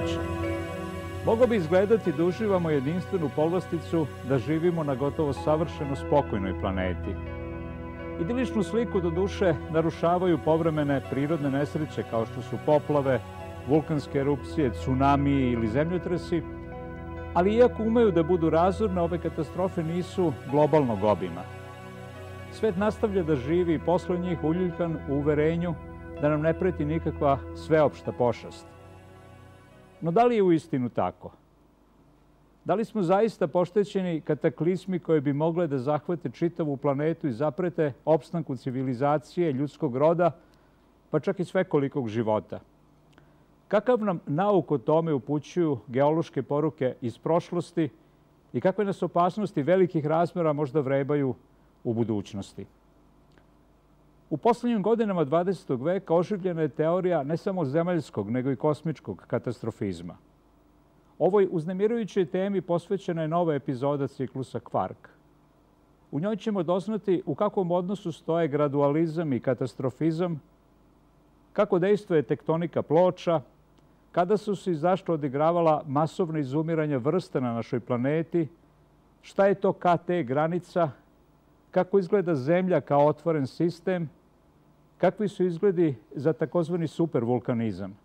drugačije. Moglo bi izgledati da uživamo jedinstvenu povlasticu da živimo na gotovo savršeno spokojnoj planeti. Idiličnu sliku do duše narušavaju povremene prirodne nesreće kao što su poplave, vulkanske erupcije, tsunami ili zemljotresi, ali iako umeju da budu razorne, ove katastrofe nisu globalnog obima. Svet nastavlja da živi posle njih uljuljkan u uverenju da nam ne preti nikakva sveopšta pošast. No da li je uistinu tako? Da li smo zaista poštećeni kataklizmi koje bi mogle da zahvate čitavu planetu i zaprete opstanku civilizacije, ljudskog roda, pa čak i svekolikog života? Kakav nam nauk o tome upućuju geološke poruke iz prošlosti i kakve nas opasnosti velikih razmera možda vrebaju u budućnosti? U poslednjim godinama 20. veka oživljena je teorija ne samo zemaljskog, nego i kosmičkog katastrofizma. Ovoj uznemirujućoj temi posvećena je nova epizoda ciklusa Kvark. U njoj ćemo doznati u kakvom odnosu stoje gradualizam i katastrofizam, kako dejstvuje tektonika ploča, kada su se i zašto odigravala masovna izumiranja vrsta na našoj planeti, šta je to KT granica, kako izgleda Zemlja kao otvoren sistem, kakvi su izgledi za takozvani supervulkanizam.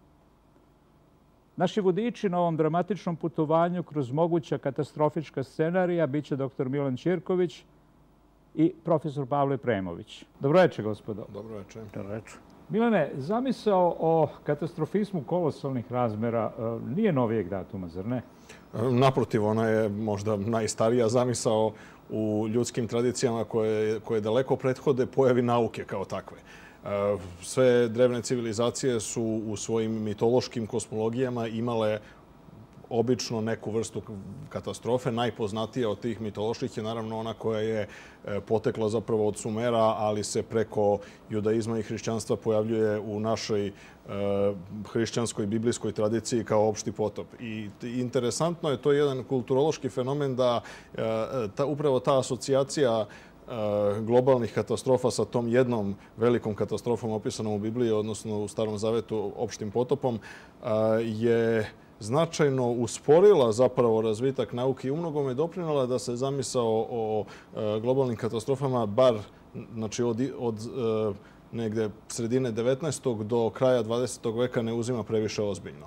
Naši vodiči na ovom dramatičnom putovanju kroz moguća katastrofička scenarija biće dr. Milan Ćirković i profesor Pavle Premović. Dobroveče, gospodo. Dobroveče. Dobroveče. Milane, zamisao o katastrofizmu kolosalnih razmera nije novijeg datuma, zar ne? Naprotiv, ona je možda najstarija zamisao u ljudskim tradicijama koje daleko prethode pojavi nauke kao takve. Sve drevne civilizacije su u svojim mitološkim kosmologijama imale obično neku vrstu katastrofe. Najpoznatija od tih mitoloških je naravno ona koja je potekla zapravo od Sumera, ali se preko judaizma i hrišćanstva pojavljuje u našoj hrišćanskoj biblijskoj tradiciji kao opšti potop. I interesantno je, to je jedan kulturološki fenomen da upravo ta asocijacija globalnih katastrofa sa tom jednom velikom katastrofom opisanom u Bibliji, odnosno u Starom Zavetu opštim potopom, je značajno usporila zapravo razvitak nauke i umnogome doprinela da se zamisao o globalnim katastrofama bar znači od negde sredine 19. do kraja 20. veka ne uzima previše ozbiljno.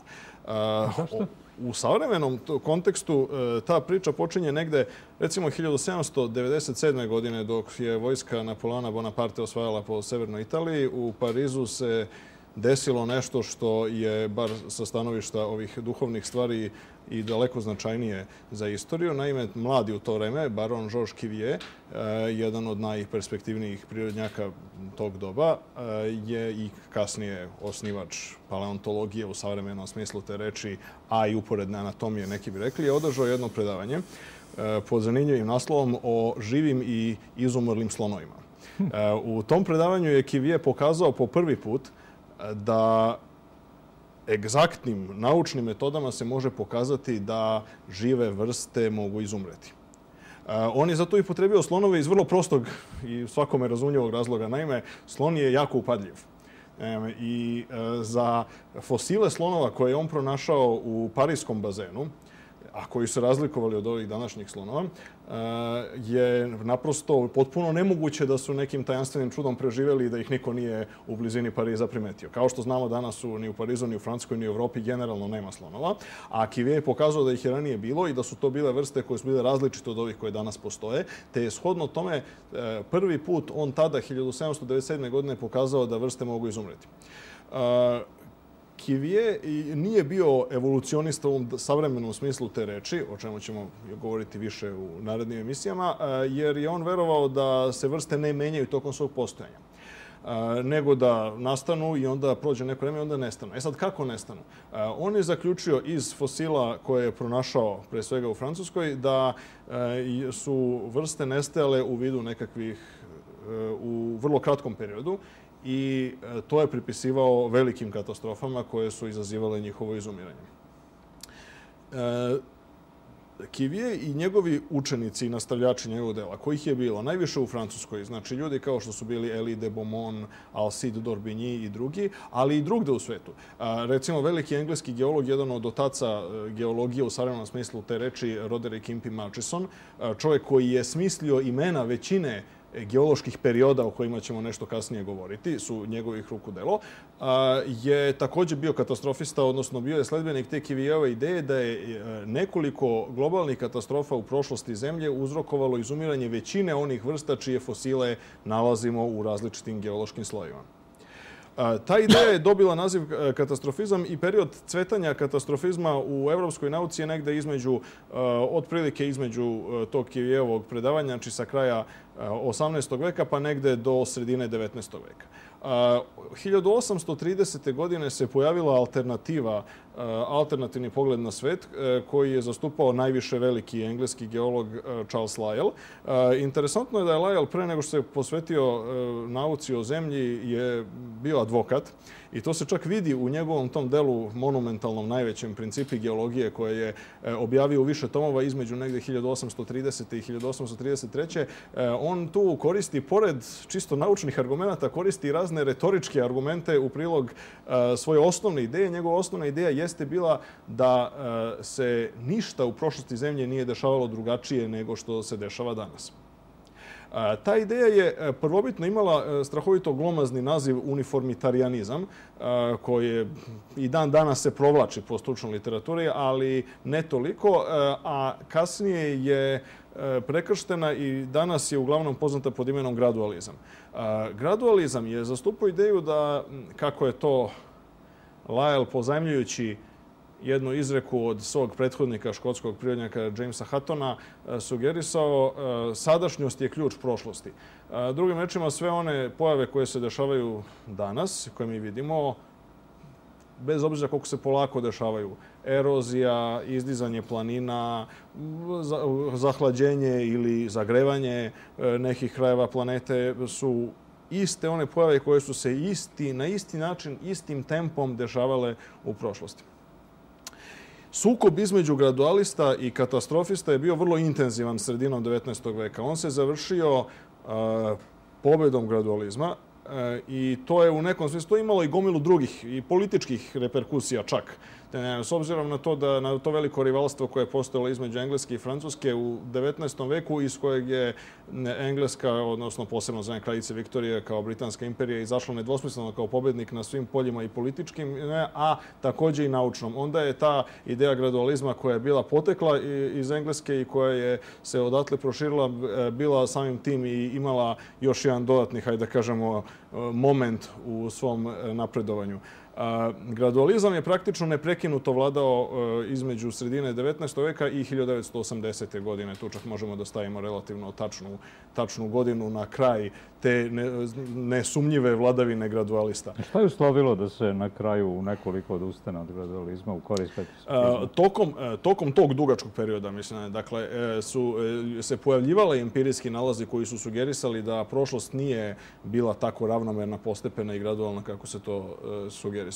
Zašto? U savremenom kontekstu ta priča počinje negde, recimo 1797. godine, dok je vojska Napoleona Bonaparte osvajala po severnoj Italiji. U Parizu se desilo nešto što je, bar sa stanovišta ovih duhovnih stvari, i daleko značajnije za istoriju. Naime, mladi u to vreme, baron Georges Cuvier, jedan od najperspektivnijih prirodnjaka tog doba, je i kasnije osnivač paleontologije u savremenom smislu te reči, a i uporedne anatomije, neki bi rekli, je održao jedno predavanje pod zanimljivim naslovom o živim i izumrlim slonovima. U tom predavanju je Cuvier pokazao po prvi put da egzaktnim naučnim metodama se može pokazati da žive vrste mogu izumreti. On je zato i potrebio slonove iz vrlo prostog i svakome razumljivog razloga. Naime, slon je jako upadljiv. I za fosile slonova koje je on pronašao u Pariskom bazenu, a koji su razlikovali od ovih današnjih slonova, je naprosto potpuno nemoguće da su nekim tajanstvenim čudom preživjeli i da ih niko nije u blizini Pariza primetio. Kao što znamo, danas ni u Parizu, ni u Francuskoj, ni u Evropi generalno nema slonova, a Cuvier je pokazao da ih je ranije bilo i da su to bile vrste koje su bile različite od ovih koje danas postoje, te je shodno tome prvi put on tada, 1797. godine, pokazao da vrste mogu izumreti. Cuvier nije bio evolucionista u ovom savremenom smislu te reči, o čemu ćemo govoriti više u narednim emisijama, jer je on verovao da se vrste ne menjaju tokom svog postojanja, nego da nastanu i onda prođe neko vreme i onda nestanu. E sad, kako nestanu? On je zaključio iz fosila koje je pronašao, pre svega u Francuskoj, da su vrste nestajale u vidu nekakvih u vrlo kratkom periodu i to je pripisivao velikim katastrofama koje su izazivale njihovo izumiranje. Cuvier i njegovi učenici i nastavljači njegovog dela, kojih je bilo najviše u Francuskoj, znači ljudi kao što su bili Elie de Beaumont, Alcide d'Orbigny i drugi, ali i drugde u svetu. Recimo, veliki engleski geolog, jedan od otaca geologije u savremenom smislu te reči, Roderick Impey Murchison, čovjek koji je smislio imena većine geoloških perioda o kojima ćemo nešto kasnije govoriti, su njegovih ruku delo, je također bio katastrofista, odnosno bio je sledbenik te Cuvierove ideje da je nekoliko globalnih katastrofa u prošlosti Zemlje uzrokovalo izumiranje većine onih vrsta čije fosile nalazimo u različitim geološkim slojevima. Ta ideja je dobila naziv katastrofizam i period cvetanja katastrofizma u evropskoj nauci je negde između, otprilike između tog Cuvierovog predavanja, znači sa kraja 18. veka pa negde do sredine 19. veka. 1830. godine se pojavila alternativni pogled na svet koji je zastupao najviše veliki engleski geolog Charles Lyell. Interesantno je da je Lyell pre nego što se posvetio nauci o zemlji je bio advokat i to se čak vidi u njegovom tom delu monumentalnom najvećem Principi geologije koje je objavio u više tomova između negde 1830. i 1833. On tu koristi, pored čisto naučnih argumenta, koristi razne retoričke argumente u prilog svoje osnovne ideje. Njegova osnovna ideja jeste bila da se ništa u prošlosti Zemlje nije dešavalo drugačije nego što se dešava danas. Ta ideja je prvobitno imala strahovito glomazni naziv uniformitarianizam, koji i dan danas se provlači po stručnoj literaturi, ali ne toliko, a kasnije je prekrštena i danas je uglavnom poznata pod imenom gradualizam. Gradualizam je zastupao ideju da, kako je to Lyell pozajmljujući jednu izreku od svog prethodnika, škotskog prirodnjaka Jamesa Huttona, sugerisao sadašnjost je ključ prošlosti. Drugim rečima, sve one pojave koje se dešavaju danas, koje mi vidimo, bez obzira koliko se polako dešavaju, erozija, izdizanje planina, zahlađenje ili zagrevanje nekih krajeva planete su iste one pojave koje su se na isti način, istim tempom dešavale u prošlosti. Sukob između gradualista i katastrofista je bio vrlo intenzivan sredinom 19. veka. On se završio pobedom gradualizma i to je u nekom smislu imalo i gomilu drugih i političkih reperkusija čak. S obzirom na to da na to veliko rivalstvo koje je postojalo između Engleske i Francuske u 19. veku, iz kojeg je Engleska, odnosno posebno za kraljice Viktorije kao Britanska imperija, izašla nedvosmisleno kao pobednik na svim poljima i političkim, a također i naučnom. Onda je ta ideja gradualizma koja je bila potekla iz Engleske i koja je se odatle proširila, bila samim tim i imala još jedan dodatni, hajde da kažemo, moment u svom napredovanju. Gradualizam je praktično neprekinuto vladao između sredine 19. veka i 1980. godine. Tu čak možemo da stavimo relativno tačnu godinu na kraj te nesumnjive vladavine gradualista. Šta je uslovilo da se na kraju u nekoliko odustane od gradualizma u korist katastrofizma? Tokom tog dugačkog perioda, mislim, dakle, su se pojavljivali empirijski nalazi koji su sugerisali da prošlost nije bila tako ravnomerna, postepena i gradualna kako se to sugerisalo.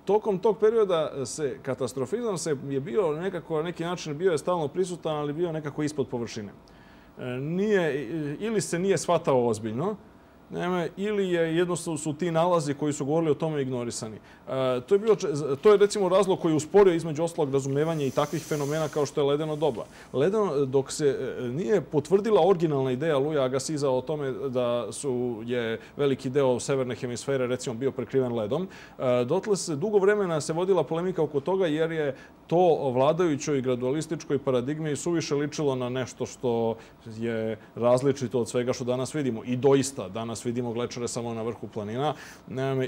Tokom tog perioda katastrofizam je bio nekako, na neki način bio je stalno prisutan, ali bio nekako ispod površine. Ili se nije shvatao ozbiljno, ili je jednostavno su ti nalazi koji su govorili o tome ignorisani. To je recimo razlog koji je usporio između ostalog razumevanje i takvih fenomena kao što je ledeno doba. Dok se nije potvrdila originalna ideja Louisa Agassiza o tome da je veliki deo severne hemisfere recimo bio prekriven ledom, dotle se dugo vremena se vodila polemika oko toga jer je to vladajućoj gradualističkoj paradigmi suviše ličilo na nešto što je različito od svega što danas vidimo. I doista, danas vidimo glečare samo na vrhu planina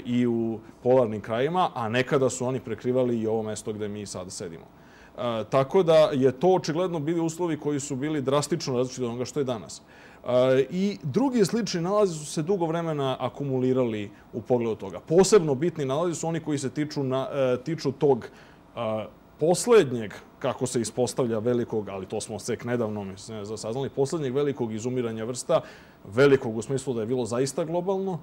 i u polarnim krajima, a nekada su oni prekrivali i ovo mesto gde mi sada sedimo. Tako da je to očigledno bili uslovi koji su bili drastično različiti od onoga što je danas. I drugi slični nalazi su se dugo vremena akumulirali u pogledu toga. Posebno bitni nalazi su oni koji se tiču tog poslednjeg, kako se ispostavlja velikog, ali to smo sek nedavno saznali, poslednjeg velikog izumiranja vrsta, velikog u smislu da je bilo zaista globalno,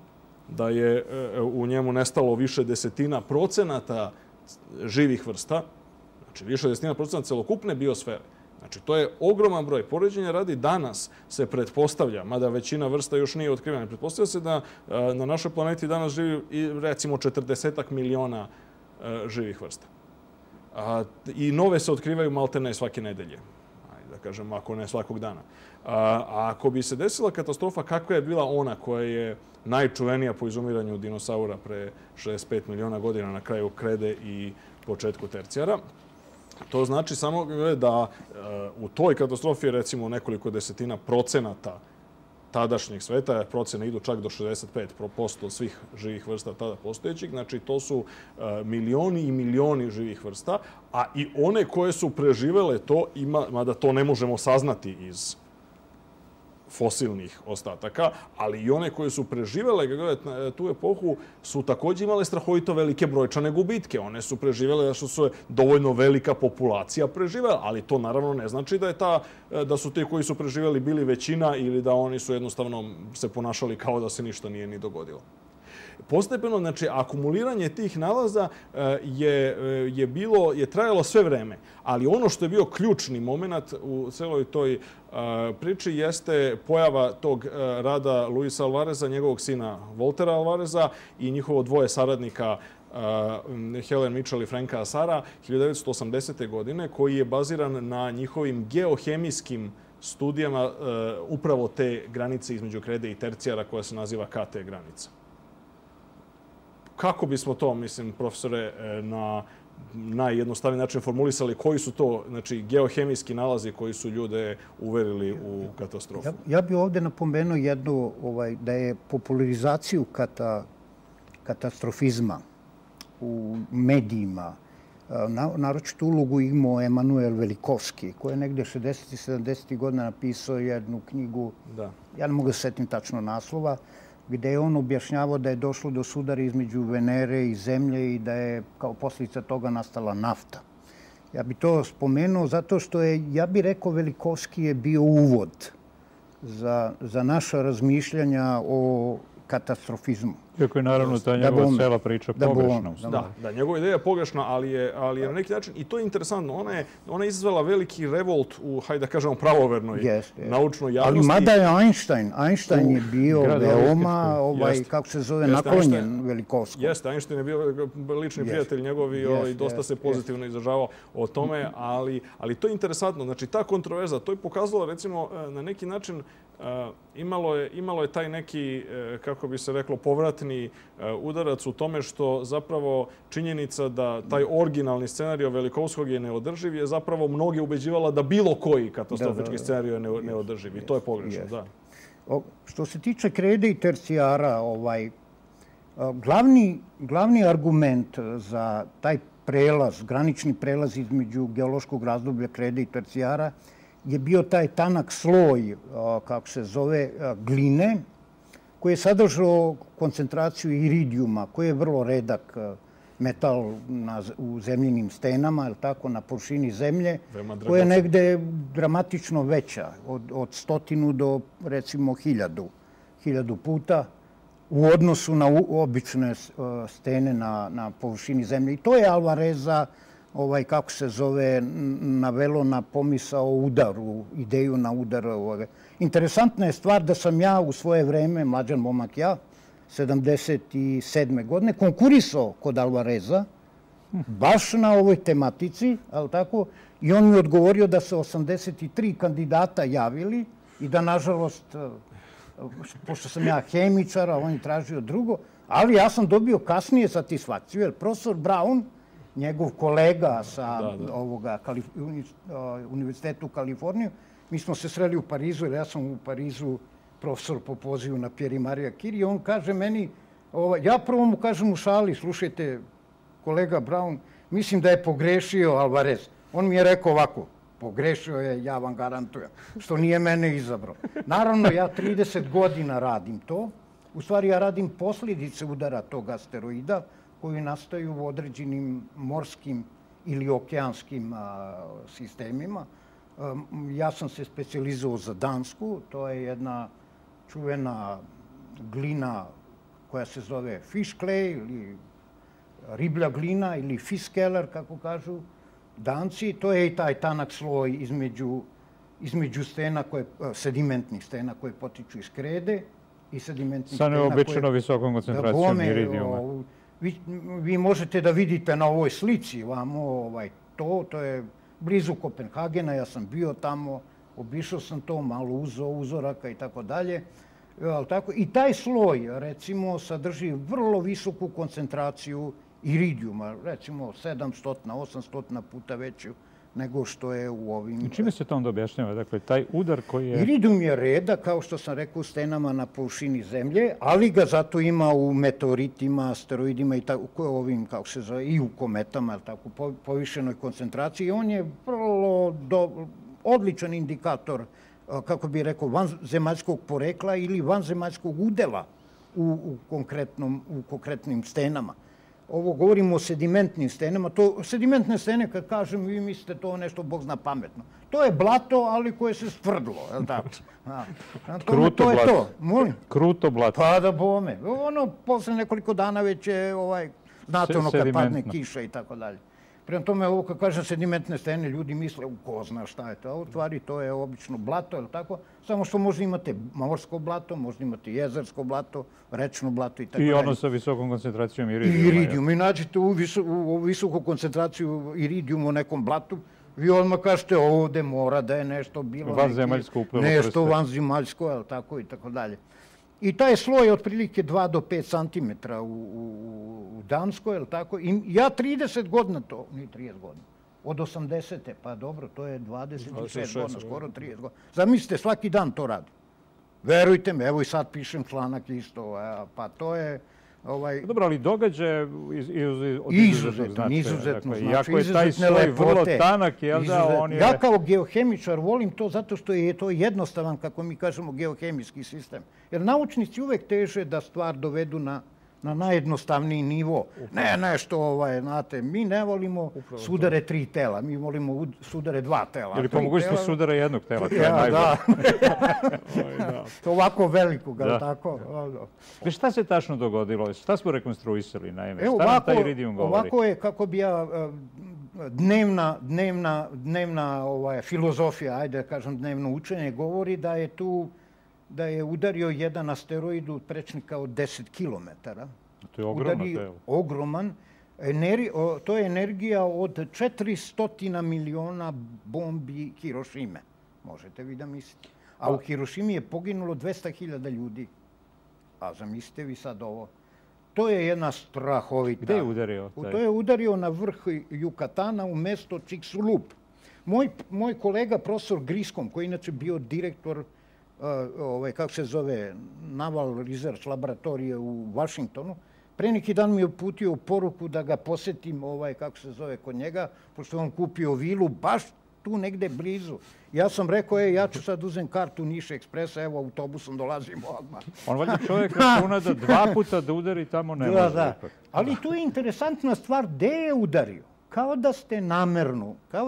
da je u njemu nestalo više 10% živih vrsta, Znači, više od 10% celokupne biosfere. Znači, to je ogroman broj. Poređenja radi danas se pretpostavlja, mada većina vrsta još nije otkrivena, pretpostavlja se da na našoj planeti danas živi recimo 40 miliona živih vrsta. I nove se otkrivaju maltene svake nedelje. Da kažem, ako ne svakog dana. A ako bi se desila katastrofa, kakva je bila ona koja je najčuvenija po izumiranju dinosaura pre 65 miliona godina na kraju krede i početku tercijara, to znači samo da u toj katastrofi je recimo nekoliko desetina procenata tadašnjeg sveta, jer procene idu čak do 65% svih živih vrsta tada postojećih. Znači, to su milioni i milioni živih vrsta, a i one koje su preživele to, mada to ne možemo saznati iz fosilnih ostataka, ali i one koje su preživele tu epohu su također imale strahovito velike brojčane gubitke. One su preživele da su dovoljno velika populacija preživela, ali to naravno ne znači da su ti koji su preživeli bili većina ili da oni su jednostavno se ponašali kao da se ništa nije ni dogodilo. Postepeno, znači, akumuliranje tih nalaza je trajalo sve vreme, ali ono što je bio ključni moment u celoj toj priči jeste pojava tog rada Luisa Alvareza, njegovog sina Voltera Alvareza i njihovo dvoje saradnika Helen Mitchell i Franka Asara 1980. godine, koji je baziran na njihovim geohemijskim studijama upravo te granice između krede i tercijara koja se naziva KT granica. Kako bismo to, mislim, profesore, na najjednostavniji način formulisali, koji su to, znači, geohemijski nalazi koji su ljude uverili u katastrofu? Ja bih ovdje napomenuo jednu, da je popularizaciju katastrofizma u medijima, naročito ulogu imao Emanuel Velikovski, koji je negdje 60. i 70. godina napisao jednu knjigu, ja ne mogu da se setim tačno naslova, gdje je on objašnjavao da je došlo do sudara između Venere i Zemlje i da je kao posljedica toga nastala nafta. Ja bih to spomenuo zato što je, ja bih rekao, Velikovski je bio uvod za naša razmišljanja o katastrofizmu. Iako je naravno ta njegova cela priča pogrešna. Da, njegova ideja je pogrešna, ali je na neki način, i to je interesantno, ona je izazvala veliki revolt u, hajde da kažemo, pravovernoj naučnoj javnosti. Ali mada je Einstein je bio veoma, kako se zove, naklonjen Velikovskom. Jeste, Einstein je bio lični prijatelj njegov i dosta se pozitivno izražavao o tome, ali to je interesantno. Znači, ta kontroverza, to je pokazalo, recimo, na neki način, imalo je taj neki, kako bi se reklo, povratni udarac u tome što zapravo činjenica da taj originalni scenario Velikovskog je neodrživ je zapravo mnoge ubeđivala da bilo koji katastrofički scenario je neodrživ. I to je pogrešno, da. Što se tiče krede i tercijara, glavni argument za taj prelaz, granični prelaz između geološkog razdoblja krede i tercijara je bio taj tanak sloj, kako se zove, gline, koji je sadržao koncentraciju iridijuma, koji je vrlo redak metal u zemljinim stenama, na površini zemlje, koja je negde dramatično veća, od 100 do, recimo, 1000 puta u odnosu na obične stene na površini zemlje. I to je Alvareza, kako se zove, navelo na pomisao o udaru, ideju na udar. Interesantna je stvar da sam ja u svoje vreme, mlađan momak ja, 77. godine, konkurisao kod Alvareza, baš na ovoj tematici, ali tako, i on mi odgovorio da se 83 kandidata javili i da, nažalost, pošto sam ja hemičar, a on je tražio drugo, ali ja sam dobio kasnije satisfakciju, jer profesor Brown, njegov kolega sa Univerzitetu u Kaliforniju, mi smo se sreli u Parizu, jer ja sam u Parizu profesor po pozivu na Pierre Maria Curie, i on kaže meni, ja prvo mu kažem u šali, slušajte, kolega Brown, mislim da je pogrešio Alvarez. On mi je rekao ovako, pogrešio je, ja vam garantujem, što nije mene izabrao. Naravno, ja 30 godina radim to. U stvari, ja radim posljedice udara tog asteroida koji nastaju u određenim morskim ili okeanskim sistemima. Ja sam se specijalizovao za Dansku. To je jedna čuvena glina koja se zove fish clay ili riblja glina ili fish keller, kako kažu Danci, to je i taj tanak sloj između stena, sedimentnih stena koje potiču iz krede i sedimentnih sa stena neobično visokom koncentracijom iridijuma. Vi možete da vidite na ovoj slici to je blizu Kopenhagena, ja sam bio tamo, obišao sam to, malo uzeo uzoraka i tako dalje. I taj sloj, recimo, sadrži vrlo visoku koncentraciju iridijuma, recimo 700, 800 puta veću nego što je u ovim... I čime se to onda objašnjava? Dakle, taj udar koji je... Iridijum je reda, kao što sam rekao, u stenama na površini zemlje, ali ga zato ima u meteoritima, asteroidima i ovim, kako se zove, i u kometama, tako, povišenoj koncentraciji. On je vrlo odličan indikator, kako bih rekao, vanzemaljskog porekla ili vanzemaljskog udela u konkretnim stenama. Ovo govorimo o sedimentnim stenama. Sedimentne stene, kad kažem, vi mislite to nešto, Bog zna, pametno. To je blato, ali koje se stvrdlo, je li tako? Kruto blato. Kruto blato. Pa da bome. Posle nekoliko dana već je, znate ono kad padne kiša i tako dalje. Prema tome, ovo kad kažem sedimentne stene, ljudi misle, ko zna šta je to. A u stvari to je obično blato, je li tako? Samo što možda imate morsko blato, možda imate jezersko blato, rečno blato i tako dalje. I ono sa visokom koncentracijom iridijuma. Iridijum. I nađete u visoku koncentraciju iridijuma u nekom blatu, vi odmah kažete ovde mora da je nešto bilo. Vanzemaljsko uplelo prste. Nešto vanzemaljsko, je li tako i tako dalje. I taj sloj je otprilike 2 do 5 centimetra u Danskoj, je li tako? I ja 30 godina to, nije 30 godina, od 80. Pa dobro, to je 25 godina, skoro 30 godina. Zamislite, svaki dan to radi. Verujte me, evo i sad pišem članak isto, pa to je... Dobro, ali događaje od izuzetnog značaja. Izuzetno znači. Iako je taj sloj vrlo tanak, jel da, on je... Ja kao geohemičar volim to zato što je to jednostavan, kako mi kažemo, geohemijski sistem. Jer naučnici uvek teže da stvar dovedu na najjednostavniji nivo. Ne nešto, znate, mi ne volimo sudare 3 tela, mi volimo sudare 2 tela. Ili po mogućnosti sudara jednog tela, to je najbolje. Ovako velikog, ali tako. Šta se tačno dogodilo? Šta smo rekonstruisali, naime? Šta nam taj iridijum govori? Ovako je, kako bi ja, dnevna filozofija, ajde da kažem dnevno učenje, govori da je udario jedan asteroid u prečnika od 10 kilometara. To je ogroman telo. Ogroman. To je energija od 400 miliona bombi Hirošime. Možete vi da mislite. A u Hirošimi je poginulo 200.000 ljudi. A zamislite vi sad ovo. To je jedna strahovita... Gde je udario? To je udario na vrh Jukatana u mesto Chicxulub. Moj kolega, profesor Griskom, koji inače bio direktor kako se zove, Naval Research laboratorije u Vašingtonu, pre neki dan mi je uputio poruku da ga posetim, kako se zove, kod njega, pošto on kupio vilu baš tu negde blizu. Ja sam rekao, ja ću sad uzem kartu Niš Ekspresa, evo autobusom dolazimo odmah. On valjda čovjek računa da 2 puta da udari tamo ne može. Da. Ali tu je interesantna stvar, gde je udario? Kao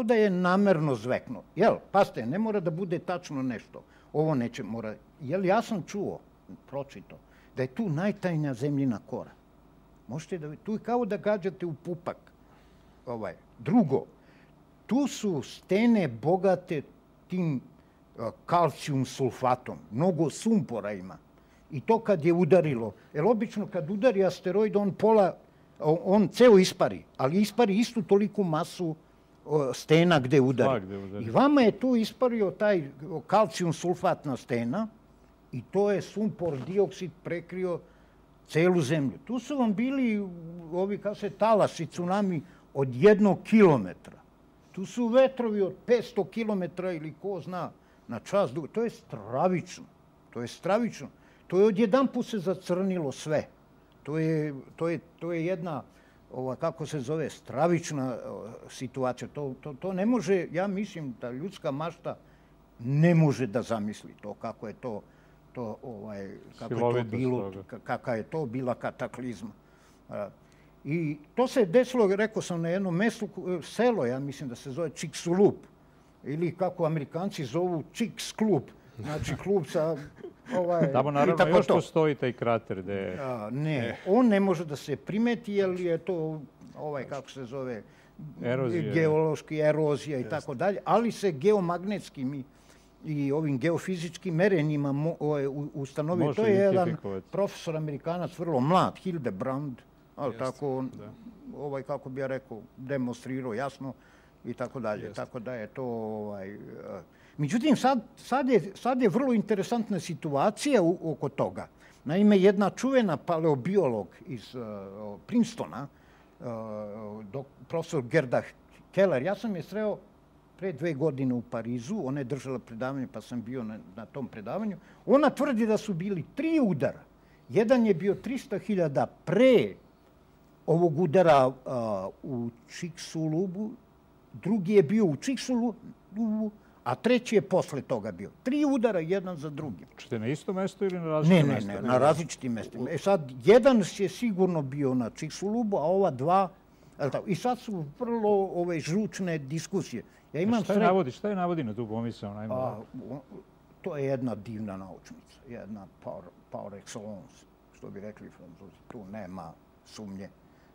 da je namerno zveknuo. Jel, pazite, ne mora da bude tačno nešto. Ovo neće mora... Jel, ja sam čuo, pročito, da je tu najtajnija zemljina kora. Možete da... Tu je kao da gađate u pupak. Drugo, tu su stene bogate tim kalcijum sulfatom. Mnogo sumpora ima. I to kad je udarilo. Jer obično kad udari asteroid, on ceo ispari. Ali ispari istu toliku masu stena gde udari. I vama je tu ispario taj kalcijum sulfatna stena i to je sumpor dioksid prekrio celu zemlju. Tu su vam bili ovi, kao se, talasi, tsunami od 1 kilometra. Tu su vetrovi od 500 kilometra ili ko zna na čas. To je stravično. To je odjedanput se zacrnilo sve. To je jedna, kako se zove, stravična situacija. To ne može, ja mislim da ljudska mašta ne može da zamisli to, kako je to bilo, kakva je to bila kataklizma. I to se desilo, rekao sam, na jednom mestu, selo, ja mislim da se zove Chicxulub, ili kako Amerikanci zovu Chicxklub, znači klub sa... Tamo naravno još postoji taj krater gde... Ne, on ne može da se primeti, jer je to, kako se zove, geološki erozija i tako dalje, ali se geomagnetskim i ovim geofizičkim merenjima ustanovi. To je jedan profesor Amerikanac, vrlo mlad, Hildebrand, ali tako, kako bi ja rekao, demonstrirao jasno i tako dalje. Tako da je to... Međutim, sad je vrlo interesantna situacija oko toga. Naime, jedna čuvena paleobiolog iz Princetona, profesor Gerda Keller, ja sam je sreo pre 2 godine u Parizu, ona je držala predavanje pa sam bio na tom predavanju. Ona tvrdi da su bili 3 udara. Jedan je bio 300.000 pre ovog udara u Chicxulubu, drugi je bio u Chicxulubu, a treći je posle toga bio. 3 udara, jedan za drugim. Čete na isto mesto ili na različitim mestima? Ne, na različitim mestima. Sad, jedan je sigurno bio na Chicxulubu, a ova 2... I sad su vrlo žučne diskusije. Šta je navodi na tu pomisao? To je jedna divna naučnica, jedna par excellence, što bi rekli Francuzi. Tu nema sumnje.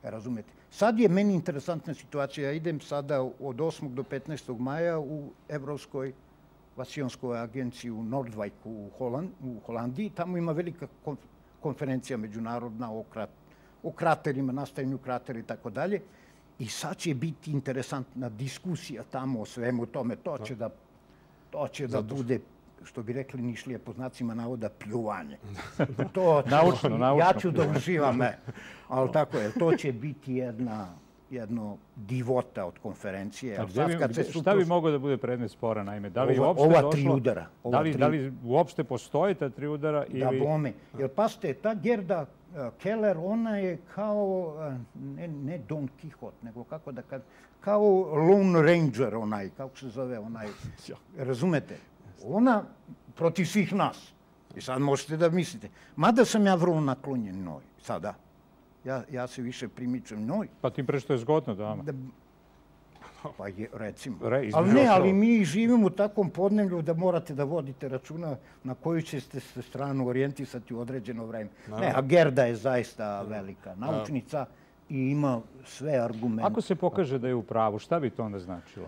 Razumete? Sad je meni interesantna situacija. Ja idem sada od 8. do 15. maja u Evropskoj vasionskoj agenciji u Noordwijku u Holandiji. Tamo ima velika konferencija međunarodna o kraterima, nastajanju kratera i tako dalje. I sad će biti interesantna diskusija tamo o svemu tome. To će da bude, što bi rekli Nišlije po znacima navoda, pljuvanje. Naučno. Ja ću da uživam, ali tako je. To će biti jedno divota od konferencije. Šta bi moglo da bude predmet spora, naime? Ova 3 udara. Da li uopšte postoje ta 3 udara? Da, bome. Jer pasite, ta Gerda Keller, ona je kao, ne Don Quixote, nego kako da kažem, kao Lone Ranger, kako se zove, razumete? Ona protiv svih nas. I sad možete da mislite. Mada sam ja vrlo naklonjen njoj, sada. Ja se više primičem njoj. Pa tim pre što je zgodno dama. Pa recimo. Ali mi živimo u takvom podneblju da morate da vodite računa na koju ćete se stranu orijentisati u određeno vreme. A Gerda je zaista velika naučnica i ima sve argumente. Ako se pokaže da je u pravu, šta bi to onda značilo?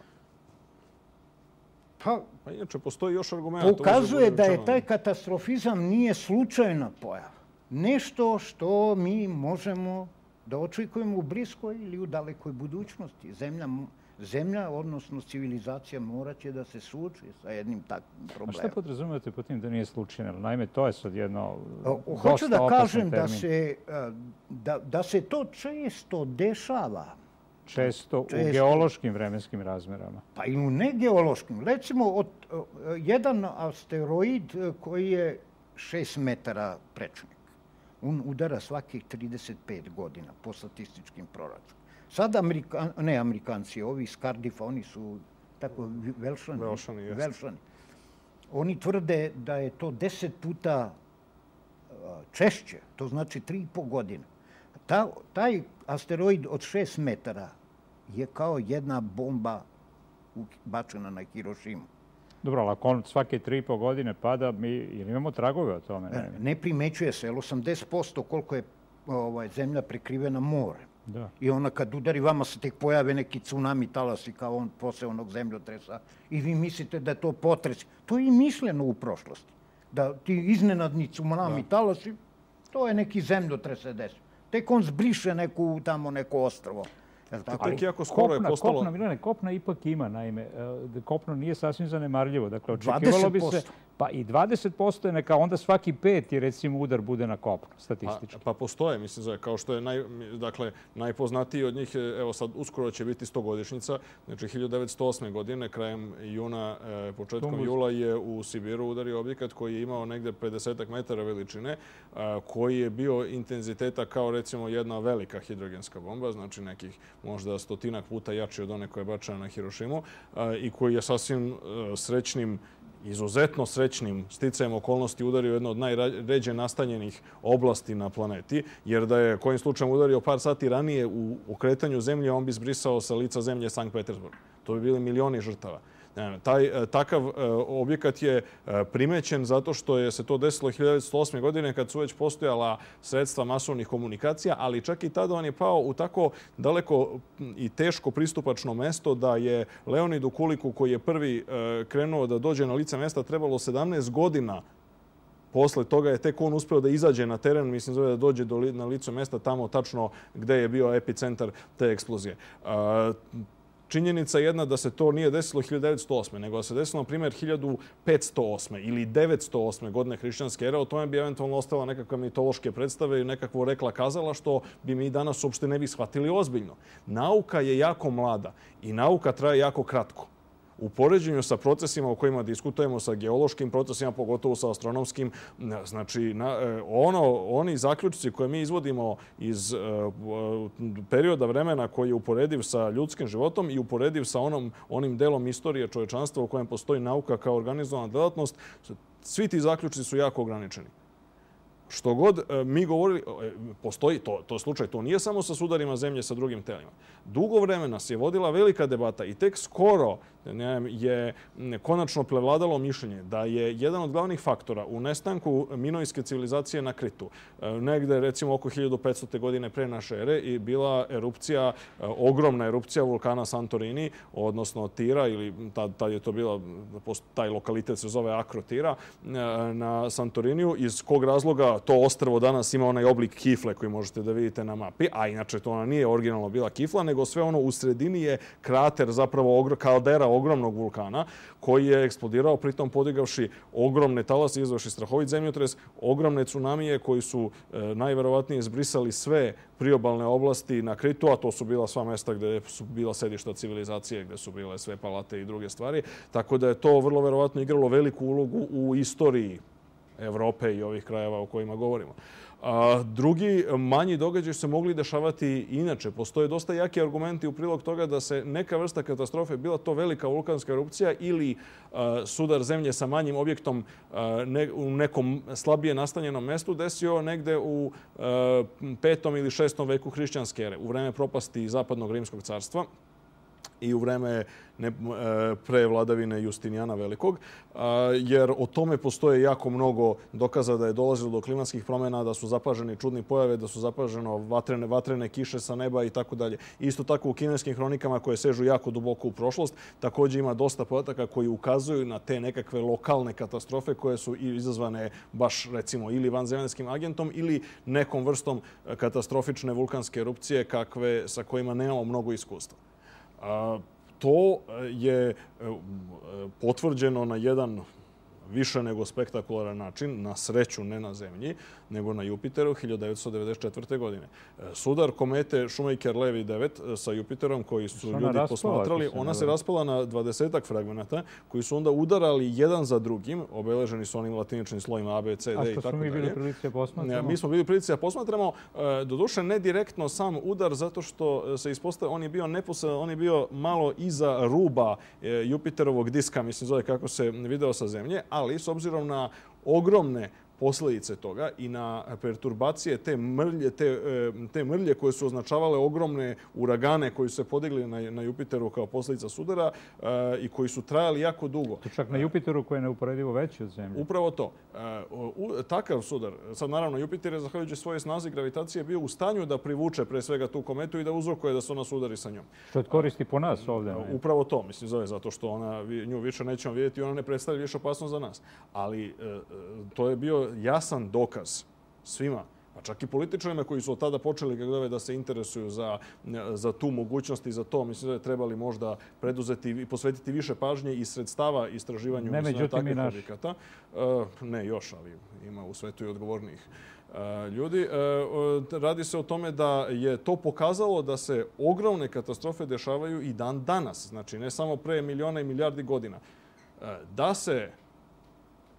Pa inače, postoji još argumenta. Pokazuje da je taj katastrofizam nije slučajna pojava. Nešto što mi možemo da očekujemo u bliskoj ili u dalekoj budućnosti. Zemlja, odnosno civilizacija, morat će da se suoči sa jednim takvim problemom. A šta podrazumijete po tim da nije slučajno? Naime, to je sad jedno dosta hoću da kažem termin. da se to često dešava. Često u geološkim vremenskim razmerama. Pa i u negeološkim. Recimo, jedan asteroid koji je 6 metara prečnik. On udara svakih 35 godina po statističkim proračunima. Sad Amerikanci, ovi iz Cardiffa, oni su tako Velšani. Oni tvrde da je to 10 puta češće, to znači 3,5 godine. Taj asteroid od 6 metara je kao jedna bomba bačena na Hirošimu. Dobro, ali ako on svake 3,5 godine pada, mi imamo tragove o tome? Ne primećuje se, jer 80% koliko je zemlja prekrivena morem. I ona kad udari, vama se tek pojave neki tsunami talasi kao on posle onog zemljotresa i vi mislite da je to potres. To je i mišljeno u prošlosti. Da ti iznenadni tsunami talasi, to je neki zemljotres se desi. Tek on zbriše tamo neko ostrvo. Kopna ipak ima, naime. Kopno nije sasvim zanemarljivo. Dakle, očekivalo bi se... Pa i 20% je neka, onda svaki 5. recimo udar bude na kopno, statistički. Pa postoje, mislim, kao što je najpoznatiji od njih, evo sad uskoro će biti 100-godišnjica, znači 1908. godine, krajem juna, početkom jula je u Sibiru udario objekat koji je imao negde 50 metara veličine, koji je bio intenziteta kao recimo jedna velika hidrogenska bomba, znači nekih možda 100-ak puta jači od one koja je bačena na Hirošimu i koji je sasvim srećnim, izuzetno srećnim sticajem okolnosti udario jedno od najređe nastanjenih oblasti na planeti, jer da je kojim slučajem udario par sati ranije u okretanju zemlje, on bi zbrisao sa lica zemlje Sankt Petersburg. To bi bili milioni žrtava. Takav objekat je primećen zato što se to desilo 1908. godine kad su već postojala sredstva masovnih komunikacija, ali čak i tada on je pao u tako daleko i teško pristupačno mesto da je Leonidu Kuliku, koji je prvi krenuo da dođe na lice mesta, trebalo 17 godina. Posle toga je tek on uspeo da izađe na teren, mislim da dođe na lice mesta tamo tačno gde je bio epicentar te eksplozije. Činjenica jedna da se to nije desilo 1908. nego da se desilo, na primjer, 1508. ili 908. godine hrišćanske ere. O tome bi eventualno ostala nekakve mitološke predstave i nekakvo rekla kazala, što bi mi danas uopšte ne bi shvatili ozbiljno. Nauka je jako mlada i nauka traje jako kratko. U poređenju sa procesima o kojima diskutujemo, sa geološkim procesima, pogotovo sa astronomskim, znači oni zaključci koje mi izvodimo iz perioda vremena koji je uporediv sa ljudskim životom i uporediv sa onim delom istorije čovečanstva u kojem postoji nauka kao organizovana delatnost, svi ti zaključci su jako ograničeni. Što god mi govorili, postoji to slučaj, to nije samo sa sudarima zemlje sa drugim telima. Dugo vremena se je vodila velika debata i tek skoro je konačno prevladalo mišljenje da je jedan od glavnih faktora u nestanku minojske civilizacije na Kritu, negde recimo oko 1500. godine pre naše ere, i bila erupcija, ogromna erupcija vulkana Santorini, odnosno Tira, ili tad je to bila, taj lokalitet se zove Akrotira, na Santoriniju, iz kog razloga to ostrvo danas ima onaj oblik kifle koji možete da vidite na mapi, a inače to ona nije originalno bila kifla, nego sve ono u sredini je krater, zapravo kaldera ogromnog vulkana koji je eksplodirao, pritom podigavši ogromne talase, izvavši strahovit zemljotres, ogromne tsunamije koji su najverovatnije izbrisali sve priobalne oblasti na Kritu, a to su bila sva mesta gde su bila sedišta civilizacije, gde su bile sve palate i druge stvari. Tako da je to vrlo verovatno igralo veliku ulogu u istoriji Evrope i ovih krajeva o kojima govorimo. Drugi manji događaj se mogli dešavati inače. Postoje dosta jaki argumenti u prilog toga da se neka vrsta katastrofe, bila to velika vulkanska erupcija ili sudar zemlje sa manjim objektom u nekom slabije nastanjenom mestu, desio negde u 5. ili 6. veku hrišćanske ere, u vreme propasti Zapadnog rimskog carstva i u vreme pre vladavine Justinijana Velikog, jer o tome postoje jako mnogo dokaza da je dolazilo do klimatskih promjena, da su zapaženi čudni pojave, da su zapaženo vatrene kiše sa neba i tako dalje. Isto tako u kineskim hronikama koje sežu jako duboko u prošlost, također ima dosta podataka koji ukazuju na te nekakve lokalne katastrofe koje su izazvane baš recimo ili vanzemaljskim agentom ili nekom vrstom katastrofične vulkanske erupcije sa kojima nemamo mnogo iskustva. To je potvrđeno na jedan više nego spektakularan način, na sreću ne na Zemlji, nego na Jupiteru 1994. godine. Sudar komete Shoemaker-Levy 9 sa Jupiterom koji su ljudi posmatrali, ona se raspala na 20-ak fragmenata koji su onda udarali jedan za drugim, obeleženi su onim latiničnim slojima A, B, C, D i tako dalje. A što smo mi bili prilici da posmatramo? Mi smo bili prilici da posmatramo, doduše ne direktno sam udar, zato što se ispostavio, on je bio neposredan, on je bio malo iza ruba Jupiterovog diska, mislim zove kako se video sa Zemlje, ali s obzirom na ogromne posljedice toga i na perturbacije te mrlje koje su označavale ogromne uragane koji su se podigli na Jupiteru kao posljedica sudara i koji su trajali jako dugo. To čak na Jupiteru koji je neuporedivo veći od Zemlje. Upravo to. Takav sudar, sad naravno Jupiter je zahvaljujući svoje snazi gravitacije bio u stanju da privuče pre svega tu kometu i da uzrokuje da se ona sudari sa njom. Što je koristi po nas ovdje? Upravo to, mislim, zove, zato što nju više nećemo vidjeti i ona ne predstavlja više opasnost za nas. Ali to je bio jasan dokaz svima, pa čak i političarima koji su od tada počeli da se interesuju za tu mogućnost i za to. Mislim da je trebali možda preduzeti i posvetiti više pažnje i sredstava istraživanju takvih objekata. Ne još, ali ima u svetu i odgovornijih ljudi. Radi se o tome da je to pokazalo da se ogromne katastrofe dešavaju i dan danas. Znači, ne samo pre miliona i milijardi godina. Da se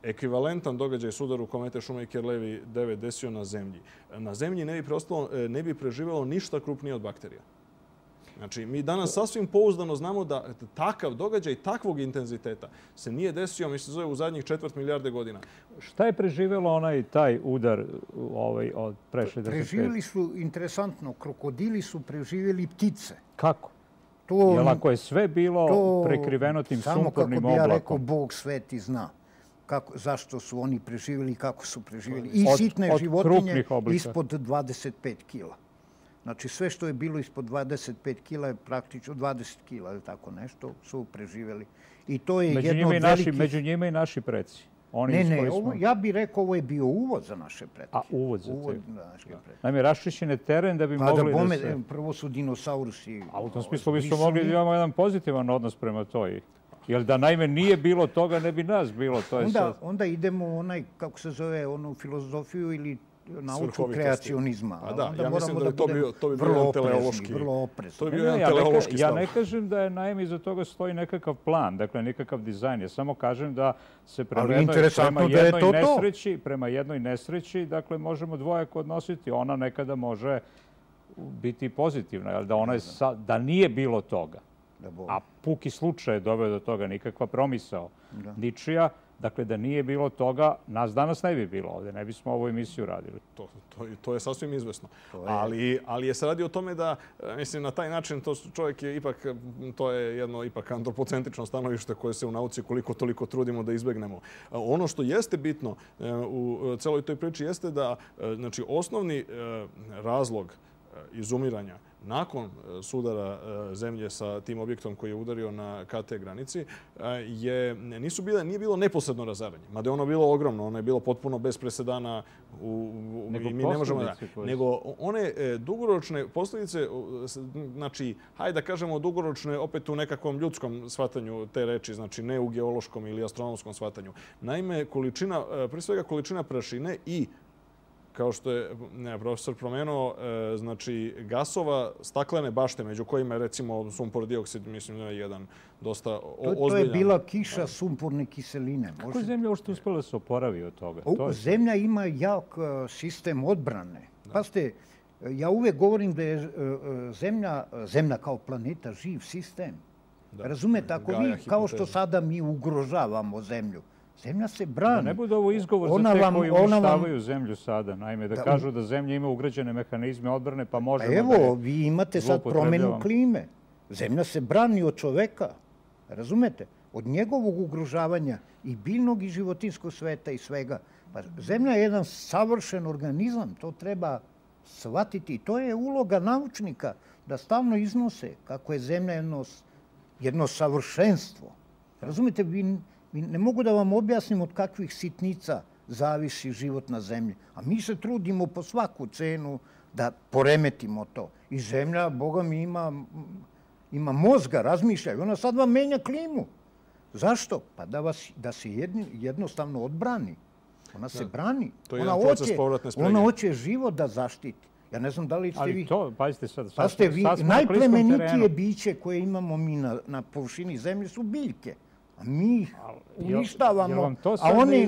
ekvivalentan događaj sudaru komete Shoemaker-Levy 9 desio na Zemlji. Na Zemlji ne bi preživjelo ništa krupnije od bakterija. Znači, mi danas sasvim pouzdano znamo da takav događaj, takvog intenziteta se nije desio, mislim, zove u zadnjih 4 milijarde godina. Šta je preživjelo taj udar od pre 65? Preživjeli su, interesantno, krokodili su preživjeli ptice. Kako? Jer ako je sve bilo prekriveno tim sumpornim oblakom... Samo kako bi ja rekao, Bog sveti zna zašto su oni preživjeli i kako su preživjeli. I sitne životinje ispod 25 kila. Znači sve što je bilo ispod 25 kila je praktično 20 kila ili tako nešto su preživjeli. I to je jedno od velikih... Među njima i naši preci. Ja bih rekao ovo je bio uvod za naše pretke. A uvod za naše pretke. Naime, raščišćen je teren da bi mogli da se... Prvo su dinosaurusi... A u tom smislu bismo mogli da imamo jedan pozitivan odnos prema toj. Jer da naime nije bilo toga, ne bi nas bilo. Onda idemo u kako se zove, onu filozofiju ili nauču kreacionizma. Ja mislim da to bi bio jedan teleološki... Vrlo oprezni. To bi bio jedan teleološki stav. Ja ne kažem da je naime iza toga stoji nekakav plan, dakle nekakav dizajn. Ja samo kažem da se prema jednoj nesreći, dakle možemo dvojako odnositi. Ona nekada može biti pozitivna, da nije bilo toga. A puki slučaj je doveo do toga, nikakva promisao ničija. Dakle, da nije bilo toga, nas danas ne bi bilo ovdje, ne bismo ovu emisiju radili. To je sasvim izvesno. Ali je se radi o tome da, mislim, na taj način čovjek je ipak, to je jedno ipak antropocentrično stanovište koje se u nauci koliko toliko trudimo da izbegnemo. Ono što jeste bitno u celoj toj priči jeste da, znači, osnovni razlog izumiranja nakon sudara zemlje sa tim objektom koji je udario na KT granici, nije bilo neposredno razaranje. Mada je ono bilo ogromno, ono je bilo potpuno bez presedana. Nego one dugoročne posljedice, znači, hajde da kažemo dugoročne opet u nekakvom ljudskom shvatanju te reči, znači ne u geološkom ili astronomskom shvatanju. Naime, pre svega količina prašine i kao što je profesor promenuo, znači gasova staklene bašte, među kojima je recimo sumpor dioksid, mislim da je jedan dosta ozbiljan. To je bila kiša sumporne kiseline. Kako je zemlja uopšte uspela da se oporavi od toga? Zemlja ima jak sistem odbrane. Pazite, ja uvek govorim da je zemlja kao planeta živ sistem. Razumete, ako vi, kao što sada mi ugrožavamo zemlju, zemlja se brani. Da ne bude ovo izgovor za te koji uništavaju zemlju sada. Naime, da kažu da zemlja ima ugrađene mehanizme odbrane, pa možemo da je zloupotrebljavamo. Evo, vi imate sad promjenu klime. Zemlja se brani od čoveka. Razumete? Od njegovog ugrožavanja i biljnog i životinskog sveta i svega. Zemlja je jedan savršen organizam. To treba shvatiti. To je uloga naučnika da stalno iznose kako je zemlja jedno savršenstvo. Razumete? Ne mogu da vam objasnim od kakvih sitnica zavisi život na zemlji. A mi se trudimo po svaku cenu da poremetimo to. I zemlja, Boga mi, ima mozga, razmišlja. I ona sad vam menja klimu. Zašto? Pa da se jednostavno odbrani. Ona se brani. To je jedan proces povratne sprege. Ona hoće život da zaštiti. Ja ne znam da li ste vi... Ali to, pazite sad, Pazite vi, najplemenitije biće koje imamo mi na površini zemlje su biljke. A mi ih uništavamo, a one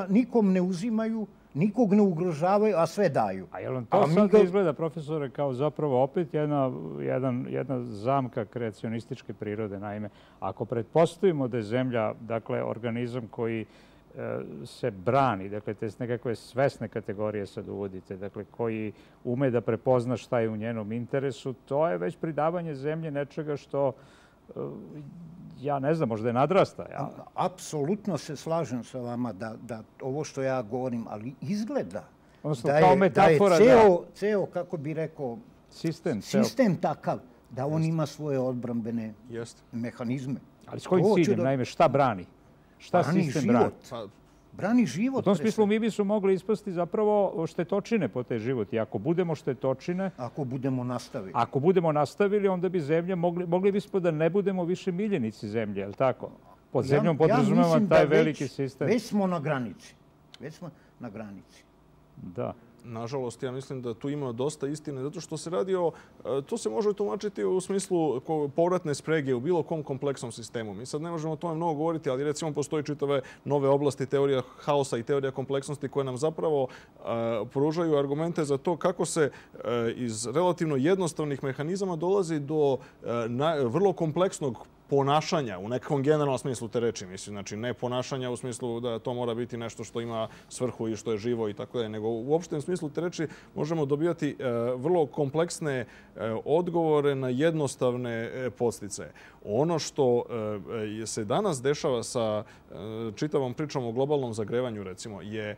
nikom ne uzimaju, nikog ne ugrožavaju, a sve daju. A je li vam to sad izgleda, profesore, kao zapravo opet jedna zamka kreacionističke prirode? Naime, ako pretpostavimo da je zemlja, dakle, organizam koji se brani, dakle, te nekakve svesne kategorije sad uvodite, dakle, koji ume da prepozna šta je u njenom interesu, to je već pridavanje zemlje nečega što, ja ne znam, možda je nadrasta. Apsolutno se slažem sa vama da ovo što ja govorim, ali izgleda da je ceo, kako bi rekao, sistem takav da on ima svoje odbrambene mehanizme. Ali s kojim ciljem, naime, šta brani? Šta sistem brani? Brani život. U tom smislu mi bismo mogli ispasti zapravo štetočine po te život. I ako budemo štetočine... Ako budemo nastavili. Ako budemo nastavili, onda bi zemlja, mogli bismo da ne budemo više miljenici zemlje, je li tako? Pod zemljom podrazumevam taj veliki sistem. Već smo na granici. Da. Nažalost, ja mislim da tu ima dosta istine, zato što se radi o... To se može tumačiti u smislu povratne sprege u bilo kom kompleksnom sistemu. Mi sad ne možemo o tome mnogo govoriti, ali recimo postoji čitave nove oblasti teorija haosa i teorija kompleksnosti koje nam zapravo pružaju argumente za to kako se iz relativno jednostavnih mehanizama dolazi do vrlo kompleksnog ponašanja u nekom generalnom smislu te reči, mislim, znači ne ponašanja u smislu da to mora biti nešto što ima svrhu i što je živo i tako dalje, nego u opštem smislu te reči možemo dobijati vrlo kompleksne odgovore na jednostavne podsticaje. Ono što se danas dešava sa čitavom pričom o globalnom zagrevanju, recimo, je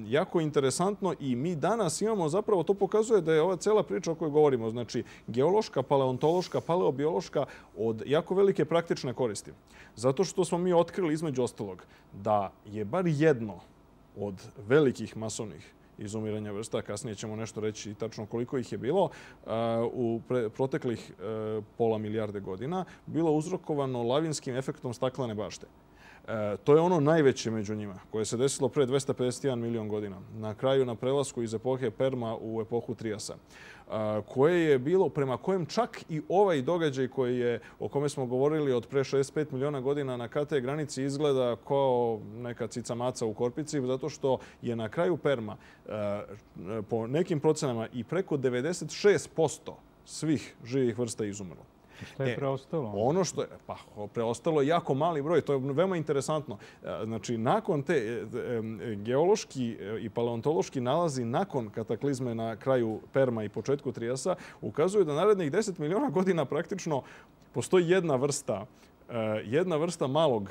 jako interesantno i mi danas imamo, zapravo to pokazuje da je ova cela priča o kojoj govorimo, znači geološka, paleontološka, paleobiološka, od jako velike praktične koristi. Zato što smo mi otkrili, između ostalog, da je bar jedno od velikih masovnih izumiranja vrsta, kasnije ćemo nešto reći tačno koliko ih je bilo, u proteklih pola milijarde godina, bilo uzrokovano lavinskim efektom staklene bašte. To je ono najveće među njima, koje se desilo pre 251 milion godina, na kraju na prelasku iz epohe Perma u epohu Triasa, koje je bilo, prema kojem čak i ovaj događaj o kome smo govorili od pre 65 miliona godina na KT granici izgleda kao neka cica maca u korpici, zato što je na kraju Perma po nekim procenama i preko 96% svih živih vrsta izumrlo. Šta je preostalo? Ono što je, preostalo je jako mali broj. To je veoma interesantno. Znači, nakon te geološki i paleontološki nalazi nakon kataklizme na kraju Perma i početku Triasa ukazuju da narednih 10 miliona godina praktično postoji jedna vrsta malog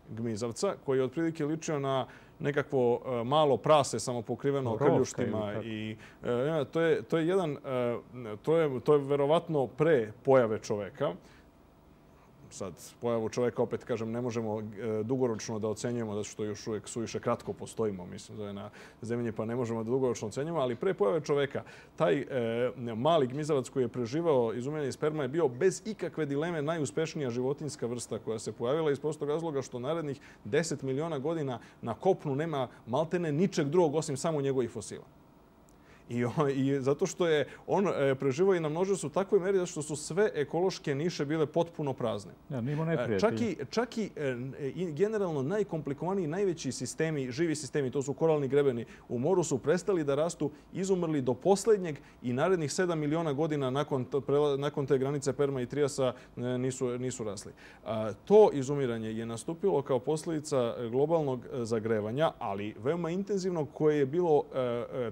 gmizavca koji je otprilike ličio na nekakvo malo prase samopokriveno krljuštima i to je verovatno pre pojave čoveka. Sad, pojavu čoveka, opet kažem, ne možemo dugoročno da ocenjujemo, zato što još uvijek suviše kratko postojimo, mislim, zove na zemlji, pa ne možemo da dugoročno ocenjujemo, ali pre pojave čoveka, taj mali gmizavac koji je preživao izumiranje sperma je bio bez ikakve dileme najuspešnija životinjska vrsta koja se pojavila iz prostog razloga što narednih 10 miliona godina na kopnu nema maltene ničeg drugog osim samo njegovih fosila. I zato što je on preživao i namnožio se u takvoj meri zato što su sve ekološke niše bile potpuno prazne. Ja, nimo neprijatelji. Čak i generalno najkomplikovaniji, najveći sistemi, živi sistemi, to su koralni grebeni u moru, su prestali da rastu, izumrli do posljednjeg i narednih 7 miliona godina nakon te granice Perma i Triasa nisu rasli. To izumiranje je nastupilo kao posljedica globalnog zagrevanja, ali veoma intenzivnog, koje je bilo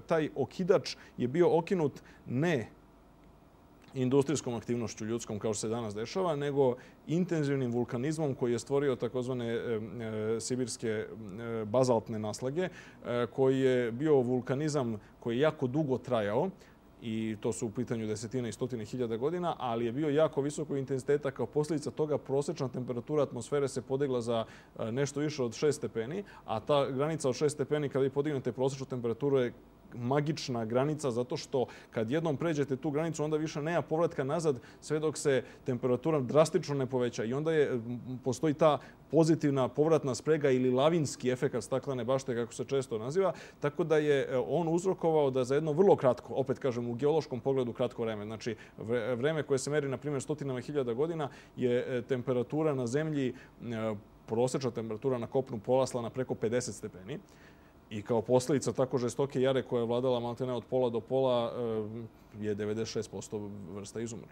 taj okidač je bio okinut ne industrijskom aktivnošću ljudskom kao što se danas dešava, nego intenzivnim vulkanizmom koji je stvorio takozvane sibirske bazaltne naslage, koji je bio vulkanizam koji je jako dugo trajao i to su u pitanju desetine i stotine hiljada godina, ali je bio jako visokog intenziteta. Kao posljedica toga prosječna temperatura atmosfere se podigla za nešto više od 6 stepeni, a ta granica od 6 stepeni kada vi podignete prosječnu temperaturu je magična granica, zato što kad jednom pređete tu granicu, onda više nema povratka nazad sve dok se temperatura drastično ne poveća. I onda postoji ta pozitivna povratna sprega ili lavinski efekat staklene bašte, kako se često naziva, tako da je on uzrokovao da za jedno vrlo kratko, opet kažem u geološkom pogledu kratko vreme, znači vreme koje se meri, na primjer, stotinama hiljada godina, je temperatura na zemlji, prosječna temperatura na kopnu porasla na preko 50 stepeni. I kao posljedica tako žestoke jare koja je vladala maltene od pola do pola je 96% vrsta izumrlo.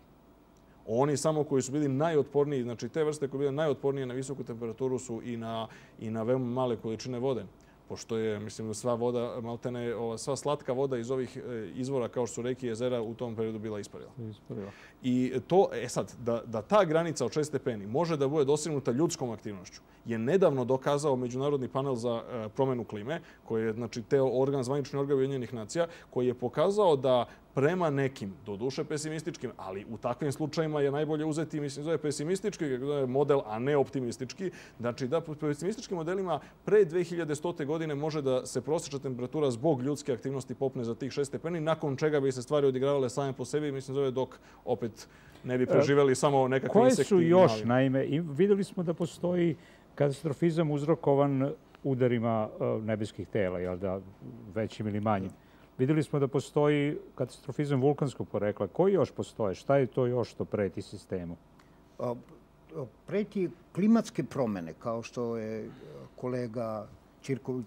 Oni samo koji su bili najotporniji, znači te vrste koje bile najotpornije na visoku temperaturu su i na veoma male količine vode. Pošto je, mislim, sva voda, maltene, sva slatka voda iz ovih izvora kao što su reke i jezera u tom periodu bila isparila. I to, sad, da ta granica od 6 stepeni može da bude dosegnuta ljudskom aktivnošću je nedavno dokazao Međunarodni panel za promjenu klime, koji je, znači, zvanični organ Ujedinjenih nacija, koji je pokazao da prema nekim, doduše pesimističkim, ali u takvim slučajima je najbolje uzeti, mislim, zove pesimistički model, a ne optimistički. Znači, da po pesimističkim modelima pre 2100. godine može da se prosječna temperatura zbog ljudske aktivnosti popne za tih 6 stepeni, nakon čega bi se stvari odigravale same po sebi, mislim, zove dok opet ne bi preživjeli samo nekakvi insekti. Koje su još, naime, vidjeli smo da postoji katastrofizam uzrokovan udarima nebeskih tela, jel da, većim ili manjim. Vidjeli smo da postoji katastrofizam vulkanskog porekla. Koji još postoje? Šta je to još što preti sistemu? Preti klimatske promjene, kao što je kolega Ćirković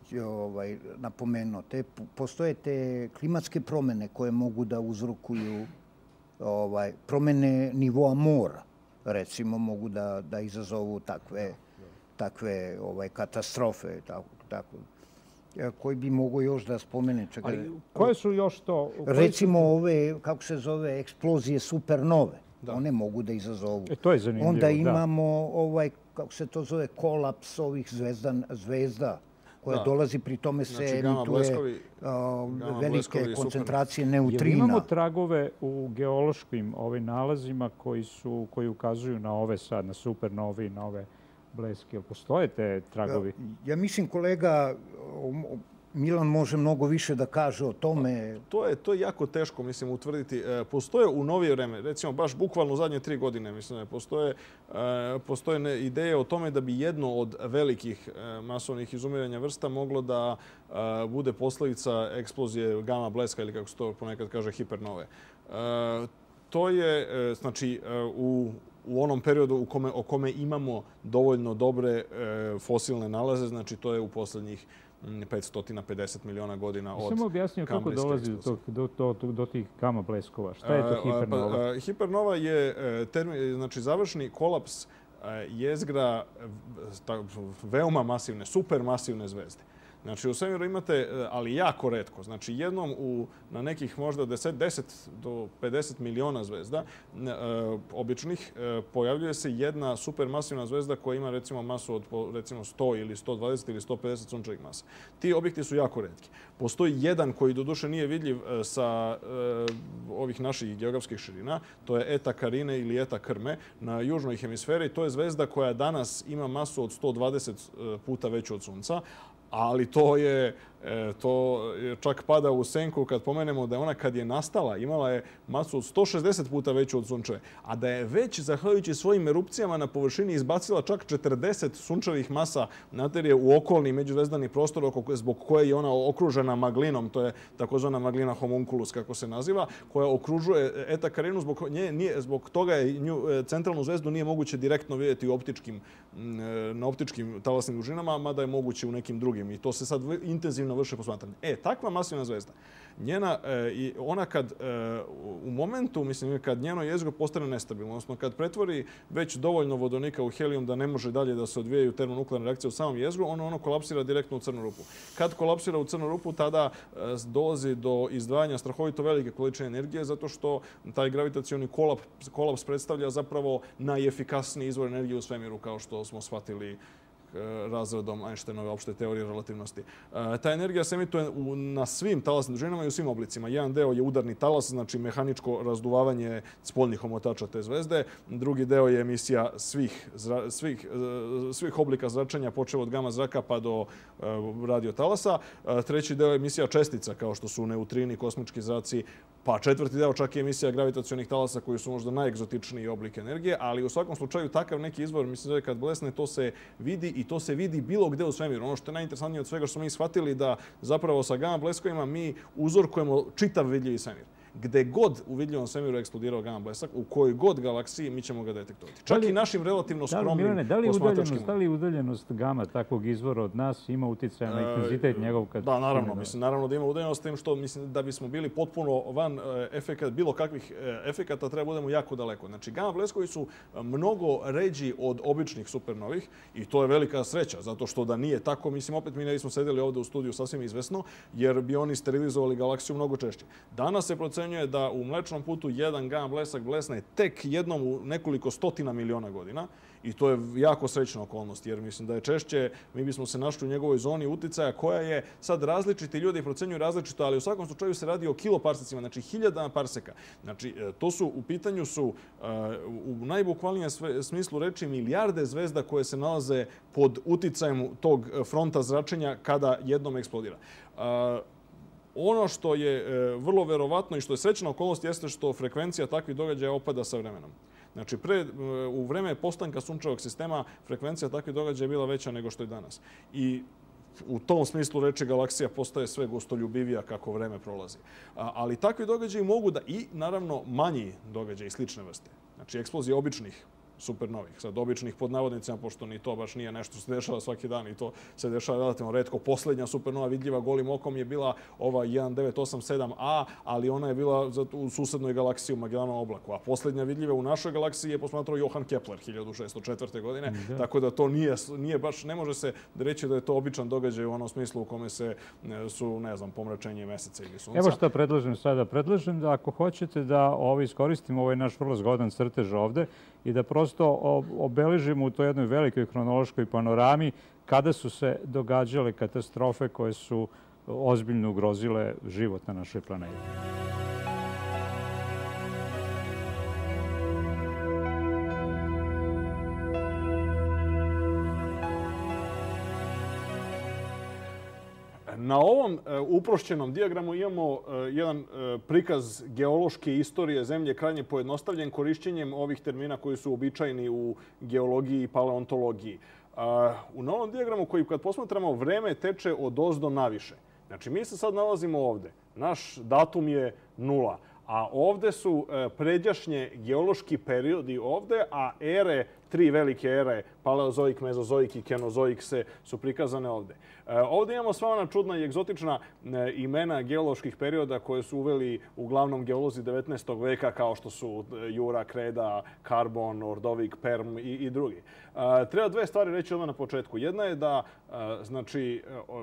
napomenuo. Postoje te klimatske promjene koje mogu da uzrokuju promjene nivoa mora. recimo, mogu da izazovu takve katastrofe. Koji bi mogo još da spomene? Ali koje su još to? Recimo ove, kako se zove, eksplozije supernove. One mogu da izazovu. To je zanimljivo, onda imamo kako se to zove, kolaps ovih zvezda koja dolazi, pri tome se emituje velike koncentracije neutrina. Imamo tragove u geološkim nalazima koji ukazuju na ove sad, na supernovi, na ove bleske. Postoje te tragovi? Ja mislim, kolega Milan može mnogo više da kaže o tome. To je jako teško, mislim, utvrditi. Postoje u novije vreme, recimo baš bukvalno u zadnje 3 godine, mislim, postoje ideje o tome da bi jedno od velikih masovnih izumiranja vrsta moglo da bude posljedica eksplozije gama bleska ili, kako se to ponekad kaže, hipernove. To je, znači, u onom periodu o kome imamo dovoljno dobre fosilne nalaze, znači to je u posljednjih 550 miliona godina od... Samo objasnio kako dolazi do tih gama bleskova. Šta je to hipernova? Hipernova je završni kolaps jezgra veoma masivne, supermasivne zvezde. Znači, u svemiru imate, ali jako retko, znači jednom na nekih možda 10 do 50 miliona zvezda običnih pojavljuje se jedna supermasivna zvezda koja ima recimo masu od recimo 100 ili 120 ili 150 sunčevih masa. Ti objekti su jako retki. Postoji jedan koji doduše nije vidljiv sa ovih naših geografskih širina, to je Eta Carinae ili Eta Krme na južnoj hemisferi. To je zvezda koja danas ima masu od 120 puta veću od Sunca, ali to čak pada u senku kad pomenemo da je ona kad je nastala imala je masu od 160 puta veću od Sunčeve, a da je već zahvaljujući svojim erupcijama na površini izbacila čak 40 sunčevih masa materije u okolni međuzvezdani prostor zbog koje je ona okružena maglinom, to je takozvana maglina homunculus kako se naziva, koja okružuje Eta Carinae, zbog toga je centralnu zvezdu nije moguće direktno vidjeti na optičkim talasnim dužinama, mada je moguće u nekim drugim i to se sad intenzivno vrše posmatranje. Takva masivna zvezda, ona kad u momentu, mislim, kad njeno jezgro postane nestabilno, odnosno kad pretvori već dovoljno vodonika u helijum da ne može dalje da se odvijaju termonuklearne reakcije u samom jezgru, ono kolapsira direktno u crnu rupu. Kad kolapsira u crnu rupu, tada dolazi do izdvajanja strahovito velike količine energije, zato što taj gravitacioni kolaps predstavlja zapravo najefikasniji izvor energije u svemiru, kao što smo shvatili razredom Einsteinove opšte teorije relativnosti. Ta energija se emituje na svim talasnim dužinama i u svim oblicima. Jedan deo je udarni talas, znači mehaničko razduvavanje spoljnih omotača te zvezde. Drugi deo je emisija svih oblika zračenja, počev od gama zraka pa do radiotalasa. Treći deo je emisija čestica, kao što su neutrini, kosmički zraci, pa četvrti deo čak je emisija gravitacionih talasa koji su možda najegzotičniji oblik energije, ali u svakom slučaju takav neki izvor, mislim da kad blesne, to se vidi i to se vidi bilo gde u svemiru. Ono što je najinteresantnije od svega što smo mi shvatili da zapravo sa gama bleskovima mi uzorkujemo čitav vidljivi svemir. Gde god u vidljivom svemiru eksplodirao gama blesak, u kojoj god galaksiji mi ćemo ga detektovati. Čak i našim relativno skromnim posmatračkim. Da li udaljenost gama takvog izvora od nas ima utjecaja na intenzitet njegov? Da, naravno. Naravno da ima udaljenost, s tim što mislim da bismo bili potpuno van bilo kakvih efekata, treba budemo jako daleko. Znači, gama bleskovi su mnogo ređi od običnih supernovih i to je velika sreća, zato što da nije tako, mislim, opet mi ne bismo sedeli ovdje u studiju sasvim izvesno, jer bi oni sterilizovali galaksiju mnogo češće. Danas se procenjuje da u Mlečnom putu jedan gama blesak blesne tek jednom u nekoliko stotina miliona godina i to je jako srećna okolnost, jer mislim da je češće, mi bismo se našli u njegovoj zoni uticaja koja je sad različiti, ljudi procenjuju različito, ali u svakom slučaju se radi o kiloparsecima, znači hiljadama parseka. Znači, to su u pitanju u najbukvalnijem smislu reči milijarde zvezda koje se nalaze pod uticajem tog fronta zračenja kada jednom eksplodira. Ono što je vrlo verovatno i što je srećna okolnost jeste što frekvencija takvih događaja opada sa vremenom. Znači, u vreme postanka sunčevog sistema frekvencija takvih događaja je bila veća nego što je danas. I u tom smislu reči galaksija postaje sve gostoljubivija kako vreme prolazi. Ali takvi događaji mogu da i, naravno, manji događaji slične vrste. Znači, eksplozije običnih supernovih. Sad, običnih pod navodnicama, pošto ni to baš nije nešto što se dešava svaki dan i to se dešava relativno retko. Posljednja supernova vidljiva golim okom je bila ova 1987A, ali ona je bila u susednoj galaksiji u Magellanovom oblaku. A posljednja vidljiva u našoj galaksiji je posmatrao Johann Kepler 1604. godine. Tako da to nije baš, ne može se reći da je to običan događaj u onom smislu u kome su, ne znam, pomračenje meseca ili sunca. Evo što predlažem sada. Predlažem da ako hoćete da iskoristimo ovaj naš vrlo zgodan crtež ovde i da prosto obeležimo u toj jednoj velikoj hronološkoj panorami kada su se događale katastrofe koje su ozbiljno ugrozile život na našoj planeti. Na ovom uprošćenom dijagramu imamo jedan prikaz geološke istorije Zemlje, krajnje pojednostavljen korišćenjem ovih termina koji su običajni u geologiji i paleontologiji. U novom dijagramu koji kad posmatramo vreme teče od ozdo naviše. Znači mi se sad nalazimo ovde. Naš datum je 0. A ovde su pređašnje geološki periodi ovde, a ere, 3 velike ere, paleozoik, mezozoik i kenozoik su prikazane ovde. Ovde imamo sva ona čudna i egzotična imena geoloških perioda koje su uveli uglavnom geolozi 19. veka kao što su Jura, Kreda, Karbon, Ordovik, Perm i drugi. Treba dve stvari reći odmah na početku. Jedna je da znači,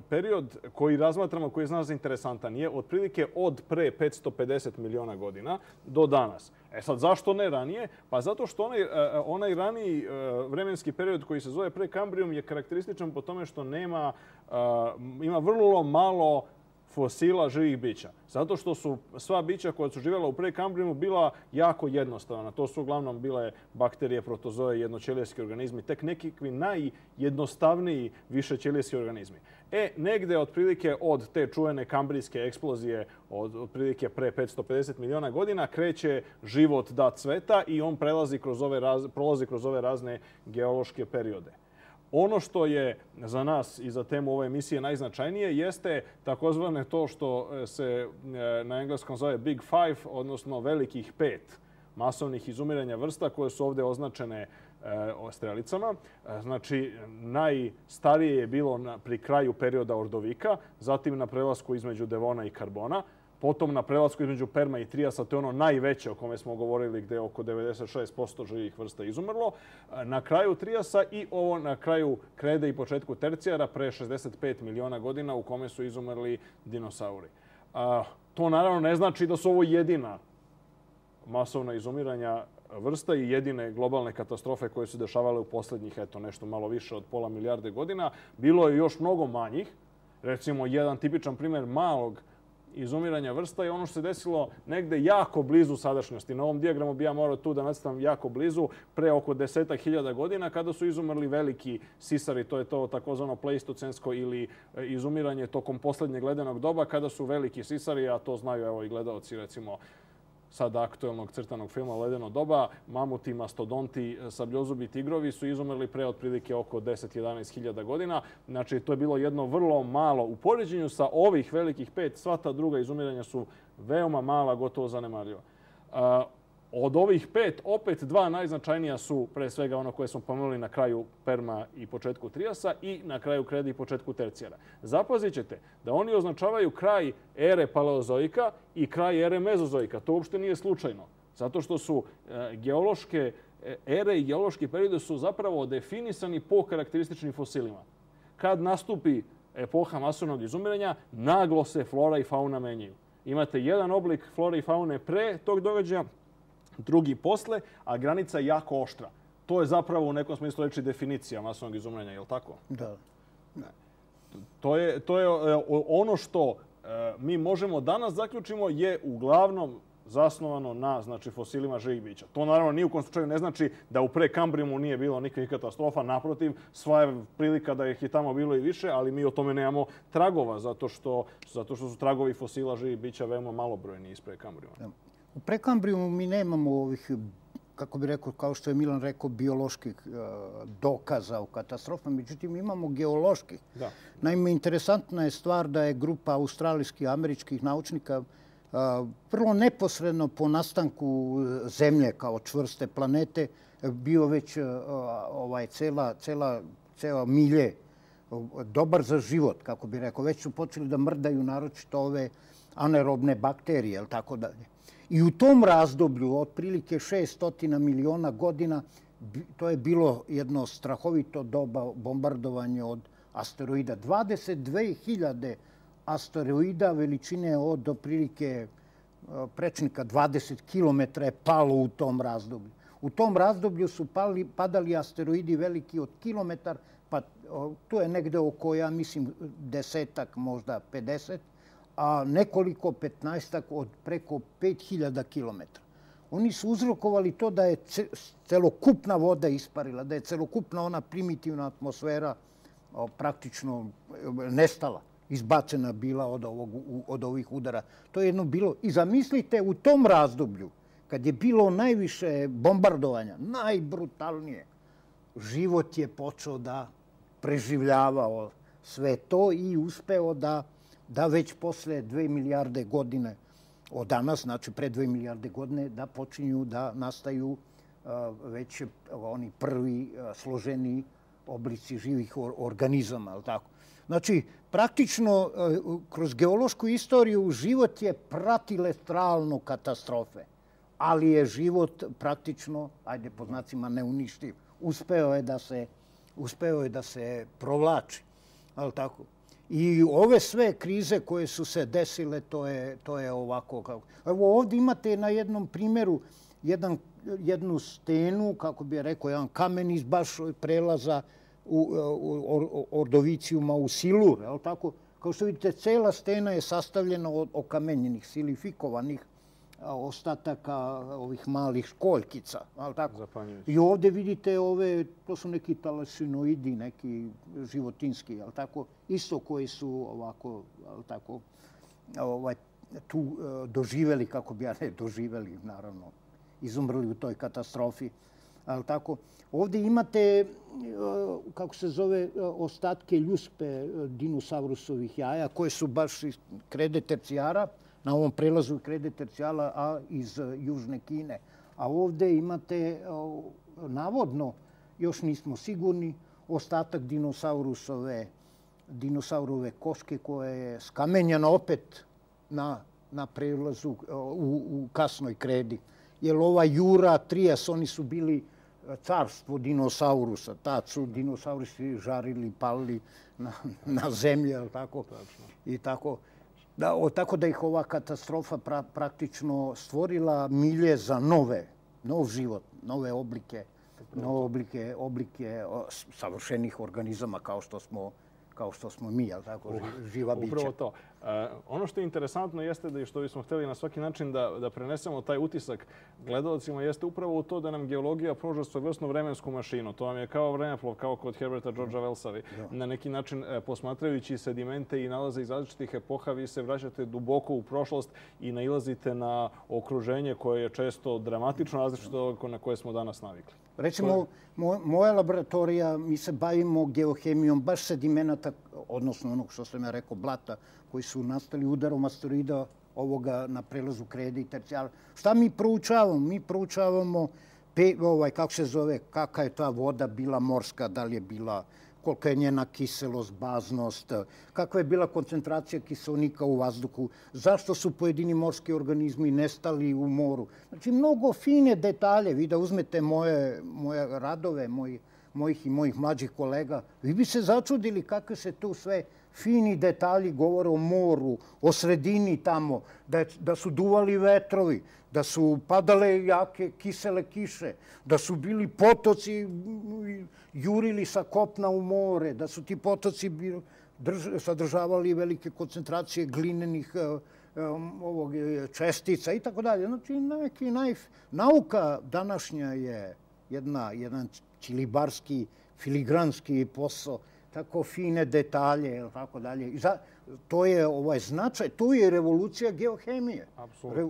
period koji razmatramo, koji je za nas interesantan, je otprilike od pre 550 miliona godina do danas. Sad, zašto ne ranije? Pa zato što onaj raniji vremenski period koji se zove Prekambrijum je karakterističan po tome što ima vrlo malo fosila živih bića. Zato što su sva bića koja su živjela u Prekambrijumu bila jako jednostavna. To su uglavnom bile bakterije, protozoe, jednoćelijski organizmi, tek nekakvi najjednostavniji višećelijski organizmi. Negde otprilike od te čuvene kambrijske eksplozije otprilike pre 550 miliona godina kreće život da cveta i on prolazi kroz ove razne geološke periode. Ono što je za nas i za temu ove emisije najznačajnije jeste takozvane to što se na engleskom zove Big Five, odnosno velikih 5 masovnih izumiranja vrsta koje su ovdje označene strelicama. Znači, najstarije je bilo pri kraju perioda Ordovika, zatim na prelasku između Devona i Karbona, potom na prelasku između Perma i Trijasa, to je ono najveće o kome smo govorili gdje je oko 96% živih vrsta izumrlo. Na kraju Trijasa i ovo na kraju Krede i početku Tercijara pre 65 miliona godina u kome su izumrli dinosauri. To naravno ne znači da su ovo jedina masovna izumiranja vrsta i jedine globalne katastrofe koje su dešavale u posljednjih, nešto malo više od pola milijarde godina. Bilo je još mnogo manjih. Recimo, jedan tipičan primjer malog izumiranja vrsta je ono što se desilo negde jako blizu sadašnjosti. Na ovom dijagramu bi ja morao tu da nacrtam jako blizu, pre oko 10.000 godina, kada su izumrli veliki sisari. To je to takozvano pleistocensko ili izumiranje tokom posljednjeg ledenog doba, kada su veliki sisari, a to znaju evo i gledaoci recimo sada aktuelnog crtanog filma Ledeno doba, mamuti, mastodonti, sabljozubi tigrovi su izumrli pre otprilike oko 10-11.000 godina. Znači, to je bilo jedno vrlo malo. U poređenju sa ovih velikih 5, sva ta druga izumiranja su veoma mala, gotovo zanemarljiva. Od ovih 5, opet 2 najznačajnija su pre svega ono koje smo pomenuli na kraju Perma i početku Trijasa i na kraju Krede i početku Tercijara. Zapazit ćete da oni označavaju kraj ere paleozoika i kraj ere mezozoika. To uopšte nije slučajno. Zato što su geološke ere i geološki periodi su zapravo definisani po karakterističnim fosilima. Kad nastupi epoha masovnog izumiranja, naglo se flora i fauna menjaju. Imate jedan oblik flore i faune pre tog događaja, drugi posle, a granica je jako oštra. To je zapravo u nekom smislu reći definicija masovnog izumiranja, je li tako? Da. To je ono što mi možemo danas zaključimo je uglavnom zasnovano na fosilima živih bića. To naravno ni u kom slučaju ne znači da u Prekambrijumu nije bilo nikakvih katastrofa. Naprotiv, sva je prilika da ih je tamo bilo i više, ali mi o tome nemamo tragova, zato što su tragovi fosila živih bića veoma malobrojni iz Prekambrijuma. U Prekambrijumu mi nemamo ovih, kako bi rekao, kao što je Milan rekao, bioloških dokaza o katastrofama, međutim imamo geoloških. Naime, interesantna je stvar da je grupa australijskih i američkih naučnika vrlo neposredno po nastanku Zemlje kao čvrste planete bio već cela milje dobar za život, kako bi rekao. Već su počeli da mrdaju naročito ove anaerobne bakterije, ili tako dalje. I u tom razdoblju, otprilike 600 miliona godina, to je bilo jedno strahovito doba bombardovanja od asteroida. 22.000 asteroida veličine od otprilike prečnika 20 km je palo u tom razdoblju. U tom razdoblju su padali asteroidi veliki od kilometar, pa tu je negde oko, ja mislim, 10, možda 50, a nekoliko 15 od preko 5000 kilometara. Oni su uzrokovali to da je celokupna voda isparila, da je celokupna ona primitivna atmosfera praktično nestala, izbacena bila od ovih udara. To je jedno bilo. I zamislite, u tom razdoblju, kad je bilo najviše bombardovanja, najbrutalnije, život je počeo da preživljavao sve to i uspeo da već posle 2 milijarde godine od danas, znači pre 2 milijarde godine, da počinju da nastaju već oni prvi složeni oblici živih organizama. Znači, praktično, kroz geološku istoriju život je pratile stalno katastrofe, ali je život praktično, ajde po znacima, neuništiv. Uspeo je da se provlači. I ove sve krize koje su se desile, to je ovako. Evo ovdje imate na jednom primjeru jednu stenu, kako bi rekao, jedan kamen iz baš prelaza Ordovicijuma u Silur. Kao što vidite, cela stena je sastavljena od okamenjenih, silifikovanih ostataka ovih malih školjkica. I ovdje vidite to su neki talasinoidi, neki životinski, isto koji su ovako tu doživjeli, kako bi doživjeli, naravno, izumrli u toj katastrofi. Ovdje imate, kako se zove, ostatke ljuspe dinosaurusovih jaja, koje su baš iz krede tercijara, na ovom prelazu krede tercijala, a iz Južne Kine. A ovdje imate, navodno, još nismo sigurni, ostatak dinosaurove koške koja je skamenjena opet na prelazu u kasnoj kredi. Jer ova Jura, Trias, oni su bili carstvo dinosaurusa. Tad su dinosaurusi žarili, palili na zemlji, i tako. Tako da ih ova katastrofa praktično stvorila milje za nov život, nove oblike savršenih organizama kao što smo mi, živa bića. Upravo to. Ono što je interesantno jeste da i što bismo htjeli na svaki način da prenesemo taj utisak gledalcima jeste upravo u to da nam geologija pruža svojevrsnu vremensku mašinu. To vam je kao vremeplov, kao kod Herberta Georgea Wellsa. Na neki način, posmatrajući sedimente i nalaze iz različitih epoha, vi se vraćate duboko u prošlost i nailazite na okruženje koje je često dramatično različito na koje smo danas navikli. Recimo, moja laboratorija, mi se bavimo geohemijom baš sedimenata, odnosno onog što sam ja rekao, blata, koji su nastali udarom asteroida ovoga na prelazu krede i tercijala. Šta mi proučavamo? Mi proučavamo, kako se zove, kakva je ta voda bila morska, da li je bila, kolika je njena kiselost, baznost, kakva je bila koncentracija kiselnika u vazduhu, zašto su pojedini morski organizmi nestali u moru. Znači, mnogo fine detalje. Vi da uzmete moje radove, mojih i mojih mlađih kolega, vi bi se začudili kakve se tu sve fini detalji govore o moru, o sredini tamo, da su duvali vetrovi, da su padale jake kisele kiše, da su bili potoci jurili sa kopna u more, da su ti potoci sadržavali velike koncentracije glinenih čestica i tako dalje. Znači, nauka današnja je jedan čilibarski, filigranski posao, tako fine detalje, tako dalje. To je značaj, to je revolucija geohemije.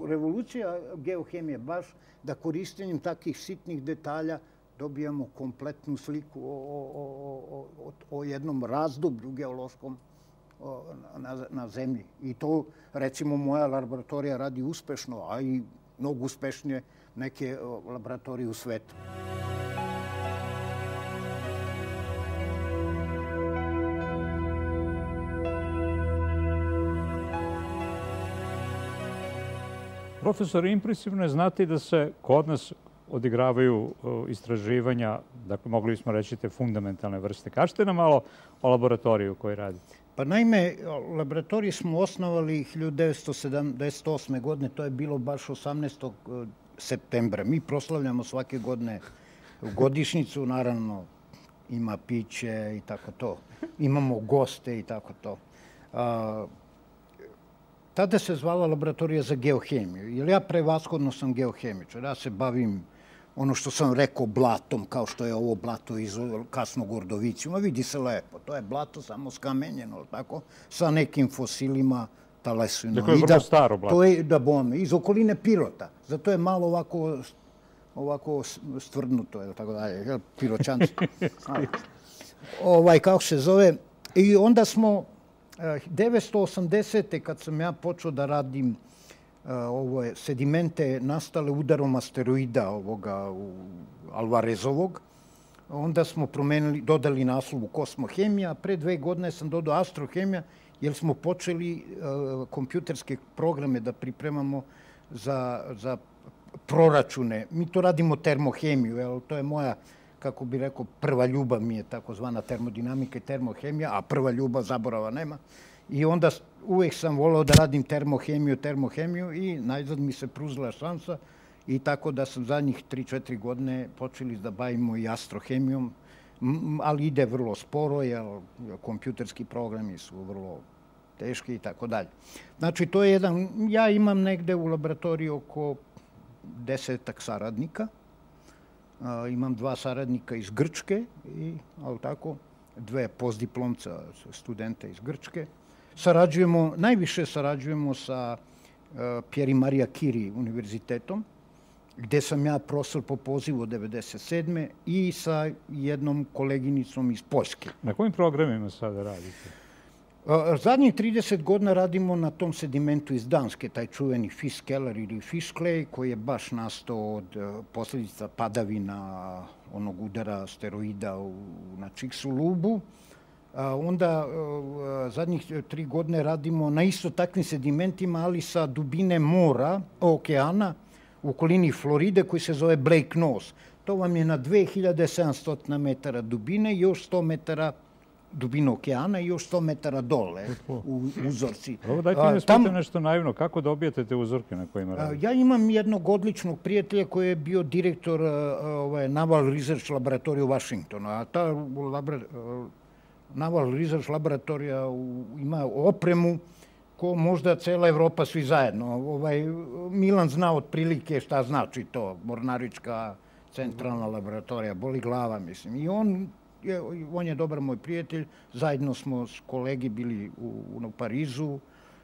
Revolucija geohemije, baš da korištenjem takvih sitnih detalja dobijamo kompletnu sliku o jednom razdoblju geološkom na zemlji. I to, recimo, moja laboratorija radi uspešno, a i mnogo uspešnije neke laboratorije u svetu. Profesor, impresivno je znati da se kod nas odigravaju istraživanja, dakle, mogli bismo reći te fundamentalne vrste. Kažete nam malo o laboratoriju u kojoj radite. Pa naime, laboratorij smo osnovali 1978. godine, to je bilo baš 18. septembra. Mi proslavljamo svake godine godišnjicu, naravno ima piće i tako to. Imamo goste i tako to. Tada se zvala laboratorija za geohemiju, jer ja prevashodno sam geohemičar. Ja se bavim ono što sam rekao blatom, kao što je ovo blato iz kasnog ordovicijuma. Vidi se lepo, to je blato samo skamenjeno, tako, sa nekim fosilima talesino. Dakle, je vrlo staro blato. To je, da bome, iz okoline Pirota. Zato je malo ovako stvrdnuto, je tako dalje, Piroćanci. Kako se zove. I onda smo 1980. kad sam ja počeo da radim sedimente nastale udarom asteroida Alvarezovog, onda smo dodali naslovu kosmohemija, a pre 2 godine sam dodao astrohemija, jer smo počeli kompjuterske programe da pripremamo za proračune. Mi to radimo termohemiju, jer to je moja, kako bi rekao, prva ljubav mi je takozvana termodinamika i termohemija, a prva ljubav zaborava nema. I onda uvijek sam voleo da radim termohemiju i najzad mi se pružila šansa i tako da sam zadnjih 3-4 godine počeli da bavimo i astrohemijom, ali ide vrlo sporo, jer kompjuterski programi su vrlo teški i tako dalje. Znači, to je jedan, ja imam negde u laboratoriji oko 10-ak saradnika. Imam 2 saradnika iz Grčke i, ali tako, 2 postdiplomca studenta iz Grčke. Najviše sarađujemo sa Pierre i Maria Curie univerzitetom, gde sam ja profesor po pozivu od 1997. i sa jednom koleginicom iz Poljske. Na kojim programima sada radite? Zadnjih 30 godina radimo na tom sedimentu iz Danske, taj čuveni fish keller ili fish clay, koji je baš nastao od posljedica padavina onog udara asteroida na Chicxulubu. Onda zadnjih 3 godine radimo na isto takvim sedimentima, ali sa dubine mora, okeana, u okolini Floride, koji se zove Blake Nose. To vam je na 2700 metara dubine i još 100 metara dubine okeana i još 100 metara dole u uzorci. Dajte mi spitam nešto naivno. Kako dobijete te uzorke na kojima radite? Ja imam jednog odličnog prijatelja koji je bio direktor Naval Research laboratorija u Washingtonu. A ta Naval Research laboratorija ima opremu ko možda cela Evropa svi zajedno. Milan zna otprilike šta znači to, Mornarička centralna laboratorija, boli glava, mislim. I on je dobar moj prijatelj, zajedno smo s kolegi bili u Parizu.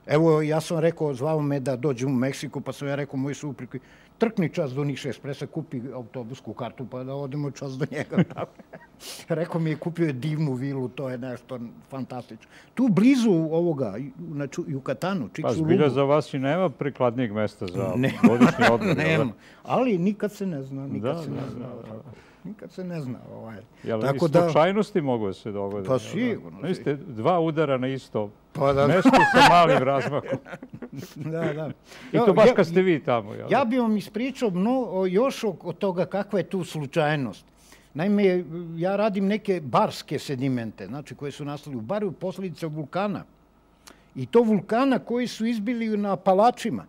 Evo, ja sam rekao, zvao me da dođem u Meksiku, pa sam ja rekao moj supruzi, trkni čas do Niša Espresa, kupi autobusku kartu pa da odemo čas do njega. Rekao mi je, kupio je divnu vilu, to je nešto fantastično. Tu blizu ovoga, na Jukatanu, Pa zbilja za vas i nema prikladnijeg mesta za godišnji odmor. Nema, ali nikad se ne zna, Nikad se ne zna. Jel i slučajnosti mogu da se dogode? Pa sigurno. Niste 2 udara na isto mesto sa malim razmakom. Da. I to baš kad ste vi tamo. Ja bih vam ispričao još od toga kakva je tu slučajnost. Naime, ja radim neke barske sedimente, znači koje su nastali u baru posljedice vulkana. I to vulkana koji su izbili na Apalačima.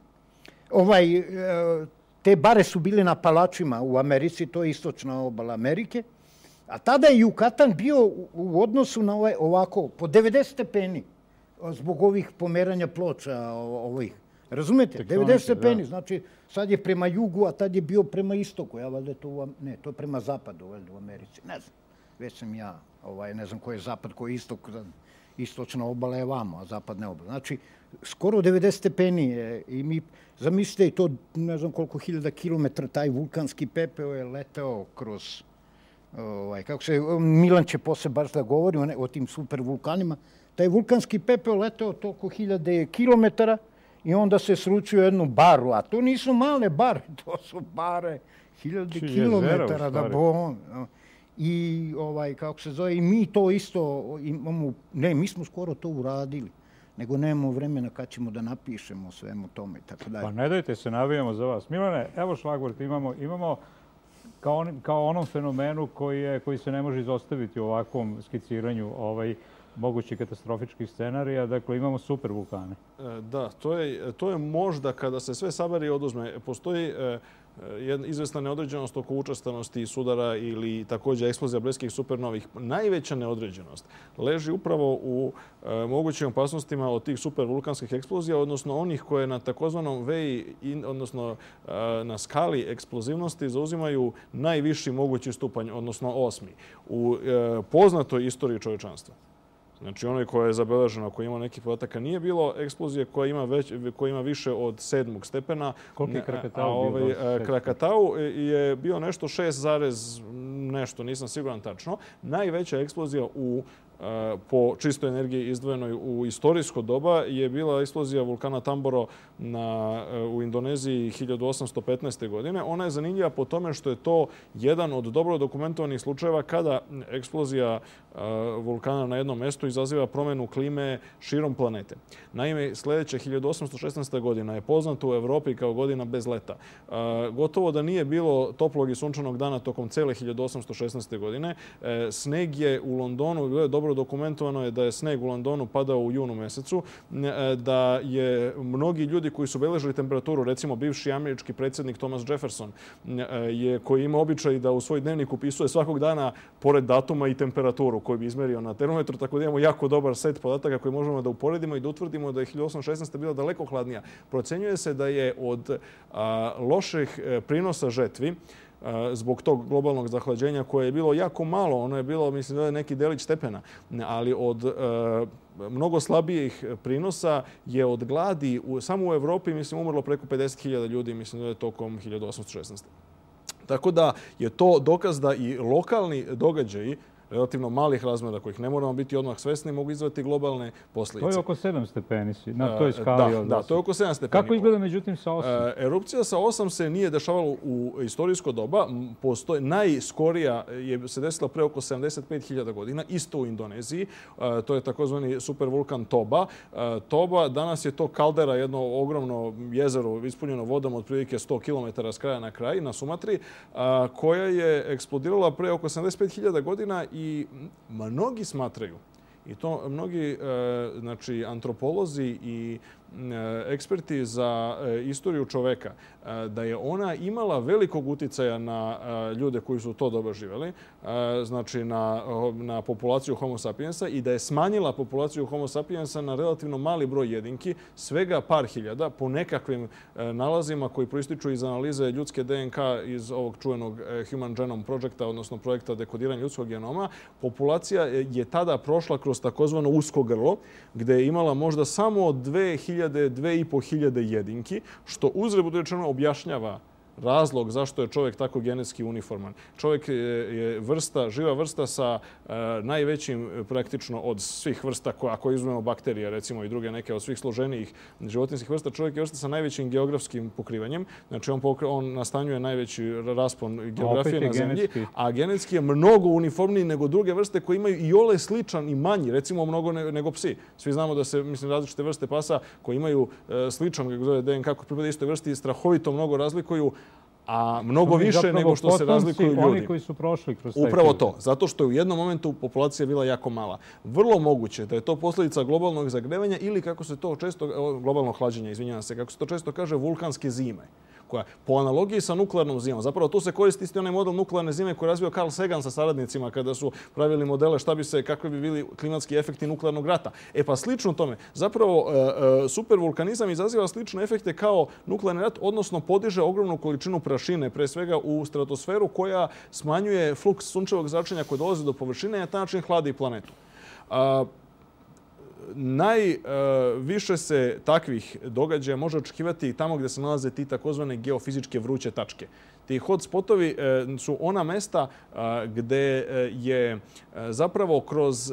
Te bare su bile na Apalačima u Americi, to je istočna obala Amerike. A tada je Jukatan bio u odnosu na ovako, po 90 stepeni, zbog ovih pomeranja ploča ovih. Razumete? 90 stepeni, znači sad je prema jugu, a tad je bio prema istoku. To je prema zapadu u Americi. Ne znam, već sam ja, ne znam koji je zapad, koji je istok, istočna obala je vamo, a zapadna obala. Znači, skoro 90 stepeni je i mi, zamislite i to, ne znam koliko hiljada kilometra, taj vulkanski pepeo je leteo kroz, Milan će posle baš da govori o tim super vulkanima, taj vulkanski pepeo leteo toliko hiljade kilometara i onda se sručio jednu baru, a to nisu male bare, to su bare hiljade kilometara da bo... I, i mi to isto imamo, mi smo skoro to uradili. nego nemamo vremena kad ćemo da napišemo o svemu tome i tako dalje. Pa ne dajte se, navijamo za vas. Milane, evo šlagvort, imamo kao onom fenomenu koji se ne može izostaviti u ovakvom skiciranju mogućih katastrofičkih scenarija. Dakle, imamo super vulkane. Da, to je možda kada se sve sabere i oduzme. Postoji izvesna neodređenost oko učestanosti sudara ili također eksplozija bliskih supernovih. Najveća neodređenost leži upravo u mogućim opasnostima od tih supervulkanskih eksplozija, odnosno onih koje na takozvanom veji, odnosno na skali eksplozivnosti zauzimaju najviši mogući stupanj, odnosno 8. u poznatoj istoriji čovječanstva. Znači, onoj koja je zabeležena, koja ima neki podataka, nije bilo eksplozije koja ima više od 7. stepena. Koliko je Krakatau bio? Krakatau je bio nešto 6, nešto, nisam siguran tačno. Najveća eksplozija po čistoj energiji izdvojenoj u istorijsko doba je bila eksplozija vulkana Tamboro u Indoneziji 1815. godine. Ona je zanimljiva po tome što je to jedan od dobro dokumentovanih slučajeva kada eksplozija vulkana na jednom mjestu izaziva promjenu klime širom planete. Naime, sljedeće 1816. godina je poznata u Evropi kao godina bez leta. Gotovo da nije bilo toplog i sunčanog dana tokom cele 1816. godine. Sneg je u Londonu, bilo je dobro dokumentovano je da je sneg u Londonu padao u junu mjesecu, da je mnogi ljudi koji su beležili temperaturu, recimo bivši američki predsjednik Thomas Jefferson, koji ima običaj da u svoj dnevnik upisuje svakog dana pored datuma i temperaturu koju bi izmerio na termometru, tako da imamo jako dobar set podataka koji možemo da uporedimo i da utvrdimo da je 1816. bila daleko hladnija. Procenjuje se da je od loših prinosa žetvi zbog tog globalnog zahlađenja koje je bilo jako malo, ono je bilo, mislim da je neki delić stepena, ali od mnogo slabijih prinosa je od gladi samo u Evropi, mislim, umrlo preko 50.000 ljudi, mislim da je tokom 1816. Tako da je to dokaz da i lokalni događaji relativno malih razmjera kojih ne moramo biti odmah svesni, mogu izvati globalne posljedice. To je oko 7 stepeni na toj skali. Da, to je oko 7 stepeni. Kako izgleda međutim sa 8? Erupcija sa 8 se nije dešavala u istorijsko doba. Najskorija se desila pre oko 75.000 godina, isto u Indoneziji. To je takozvani supervulkan Toba. Toba, danas je to kaldera, jedno ogromno jezero ispunjeno vodom od prilike 100 km s kraja na kraj na Sumatri, koja je eksplodirala pre oko 75.000 godina i mnogi smatraju, i to mnogi antropolozi i eksperti za istoriju čoveka, da je ona imala velikog uticaja na ljude koji su to dobro živjeli, znači na populaciju Homo sapiensa, i da je smanjila populaciju Homo sapiensa na relativno mali broj jedinki, svega par hiljada, po nekakvim nalazima koji proističu iz analize ljudske DNK iz ovog čuvenog Human Genome Projecta, odnosno projekta dekodiranja ljudskog genoma. Populacija je tada prošla kroz takozvano usko grlo, gde je imala možda samo 2.500 jedinki, što uzgred rečeno objašnjava razlog zašto je čovjek tako genetski uniforman. Čovjek je živa vrsta sa najvećim praktično od svih vrsta, ako izuzmemo bakterije, recimo i druge neke od svih složenijih životinjskih vrsta, čovjek je vrsta sa najvećim geografskim pokrivanjem. Znači on nastanjuje najveći raspon geografije na zemlji, a genetski je mnogo uniformniji nego druge vrste koje imaju i ole sličan i manji, recimo mnogo nego psi. Svi znamo da se, mislim, različite vrste pasa koji imaju sličan, kako zove DNK, koji pripada istoj vrsti, strahovito mnogo razlikuju, a mnogo više nego što se razlikuju ljudi. Oni koji su prošli kroz taj Upravo to, zato što je u jednom momentu populacija bila jako mala. Vrlo moguće da je to posljedica globalnog zagrevanja ili, kako se to često, globalnog hlađenja, izvinjavam se, kako se to često kaže, vulkanske zime, koja po analogiji sa nuklearnom zimom. Zapravo tu se koristi isti onaj model nuklearne zime koji je razvio Carl Sagan sa saradnicima kada su pravili modele kakvi bi bili klimatski efekti nuklearnog rata. Pa slično tome, zapravo supervulkanizam izaziva slične efekte kao nuklearni rat, odnosno podiže ogromnu količinu prašine, pre svega u stratosferu, koja smanjuje fluks sunčevog zračenja koje dolazi do površine i na taj način hladi planetu. Najviše se takvih događaja može očekivati tamo gdje se nalaze ti takozvane geofizičke vruće tačke. Ti hotspotovi su ona mesta gdje je zapravo kroz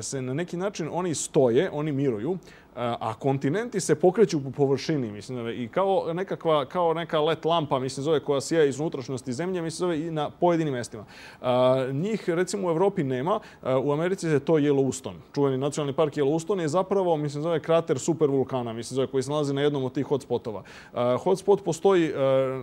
se na neki način oni stoje, oni miruju, a kontinenti se pokreću po površini, mislim, i kao neka LED lampa, mislim, zove, koja sija iz unutrašnjosti zemlje, mislim, zove i na pojedinim mestima. Njih, recimo, u Evropi nema. U Americi je to Yellowstone. Čuveni nacionalni park Yellowstone je zapravo, mislim, zove krater supervulkana, mislim, zove, koji se nalazi na jednom od tih hotspotova. Hotspot postoji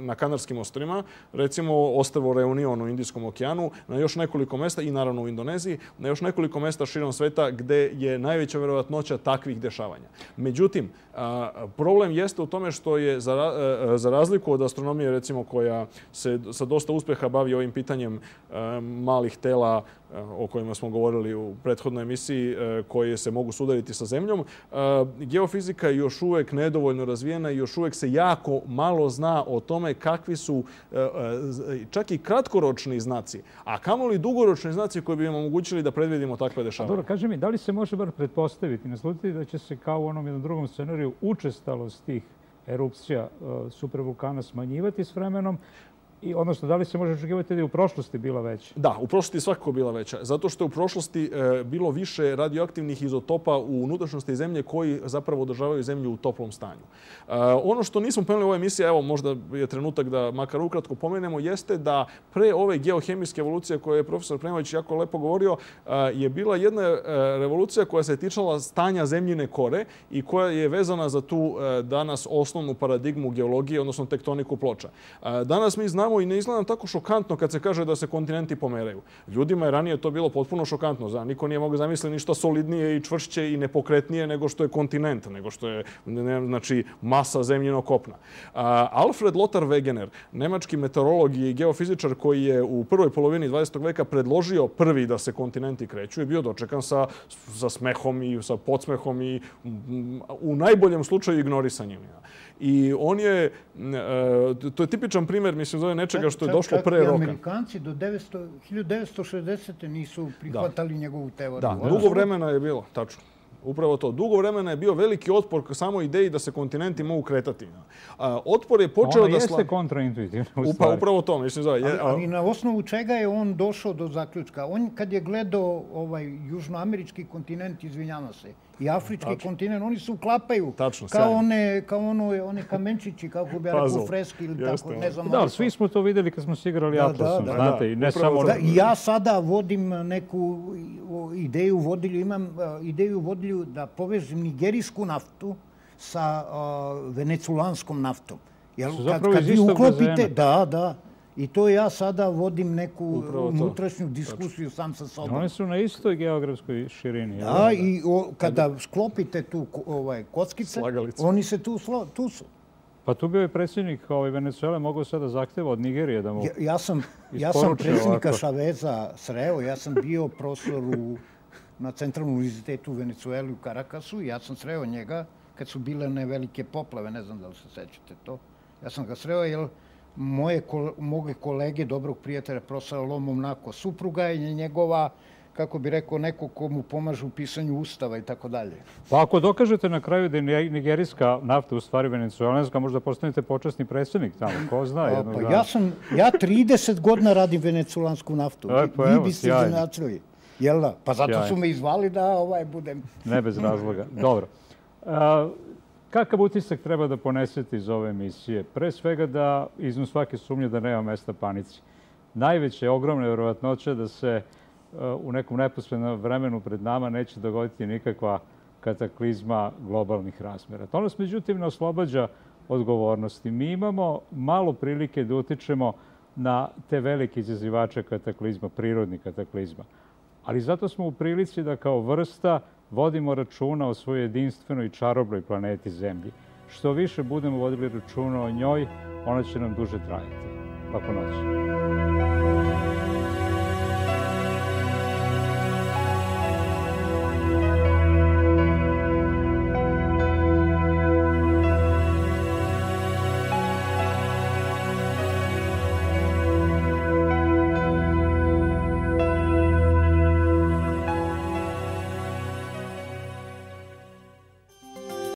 na Kanarskim ostrvima, recimo ostrvo Reunion u Indijskom okeanu, na još nekoliko mesta i naravno u Indoneziji, na još nekoliko mesta širom sveta gde je najveća verovatnoća takvih dešavanja. Međutim, problem jeste u tome što je za razliku od astronomije, recimo, koja se sa dosta uspeha bavi ovim pitanjem malih tela o kojima smo govorili u prethodnoj emisiji, koje se mogu sudariti sa Zemljom, geofizika je još uvek nedovoljno razvijena i još uvek se jako malo zna o tome kakvi su čak i kratkoročni znaci, a kamoli dugoročni znaci koji bi nam omogućili da predvidimo takve dešavanja. Dobro, kaži mi, da li se može bar pretpostaviti, naslutiti da će se kao u onom jednom drugom scenariju učestalost tih erupcija supervulkana smanjivati s vremenom, odnosno, da li se može očekivati da je u prošlosti bila veća? Da, u prošlosti je svakako bila veća. Zato što je u prošlosti bilo više radioaktivnih izotopa u unutrašnjosti Zemlje koji zapravo održavaju Zemlju u toplom stanju. Ono što nismo pomenuli u ovoj emisiji, evo možda je trenutak da makar ukratko pomenemo, jeste da pre ove geohemijske evolucije koje je profesor Premović jako lepo govorio, je bila jedna revolucija koja se tičala stanja zemljine kore i koja je vezana za tu danas osnovnu paradigmu geologije, odnosno tektoniku ploča. Danas mi znamo i ne izgleda nam tako šokantno kad se kaže da se kontinenti pomeraju. Ljudima je ranije to bilo potpuno šokantno. Niko nije mogao zamisliti ništa solidnije i čvršće i nepokretnije nego što je kontinent, nego što je, znači, masa zemljinog kopna. Alfred Lothar Wegener, nemački meteorolog i geofizičar koji je u prvoj polovini 20. veka predložio prvi da se kontinenti kreću, je bio dočekan sa smehom i sa podsmehom i u najboljem slučaju ignorisanjem. I on je, to je tipičan primjer, mislim, zove nečega što je došlo pre roka. Čak i Amerikanci do 1960. nisu prihvatali njegovu teoriju. Da, dugo vremena je bilo, tačno. Upravo to. Dugo vremena je bio veliki otpor samo ideji da se kontinenti mogu kretati. Otpor je počeo da... Ono jeste kontraintuitivno, u stvari. Upravo to, mislim, zove. Ali na osnovu čega je on došao do zaključka? On kad je gledao južnoamerički kontinent, izvinjava se, i afrički kontinent, oni se uklapaju kao one kamenčići, kako bi ja rekao, freski ili tako, ne znam. Da, svi smo to videli kad smo se igrali Atlasom, znate, i ne samo... Ja sada vodim neku ideju vodilju, imam ideju vodilju da povežem nigerijsku naftu sa veneculanskom naftom. Kad vi uklopite... Da. I to ja sada vodim neku unutrašnju diskusiju sam sa sobom. One su na istoj geografskoj širini. Da, i kada sklopite tu kockice, oni se tu su. Pa tu bio je predsjednik Venezuele, mogao sada zahteva od Nigerije da mu Ja sam predsjednika Chaveza sreo, ja sam bio profesor na Centralnom univerzitetu u Venezueli u Carakasu i ja sam sreo njega kad su bile one velike poplave, ne znam da li se sećate to. Ja sam ga sreo jer moje kolege, dobrog prijatelja, profesora Lomom Nako, supruga je njegova, kako bi rekao, neko ko mu pomaže u pisanju ustava i tako dalje. Pa ako dokažete na kraju da je nigerijska nafta u stvari venecuelanska, možda postanete počasni predsjednik tamo, ko zna jednog dana. Ja 30 godina radim veneculansku naftu. Vi biste iznenačili. Jel da? Pa zato su me izvali da budem... Ne bez razloga. Dobro. Kakav utisak treba da ponesete iz ove emisije? Pre svega da iznu svake sumnje da nema mesta panici. Najveća je ogromna vjerovatnoća da se u nekom neposrednom vremenu pred nama neće dogoditi nikakva kataklizma globalnih razmjera. To nas, međutim, ne oslobađa odgovornosti. Mi imamo malo prilike da utičemo na te velike izazivače kataklizma, prirodnih kataklizma. Ali zato smo u prilici da kao vrsta vodimo računa o svojoj jedinstvenoj i čarobloj planeti Zemlji. Što više budemo vodili računa o njoj, ona će nam duže trajati. Laku noć.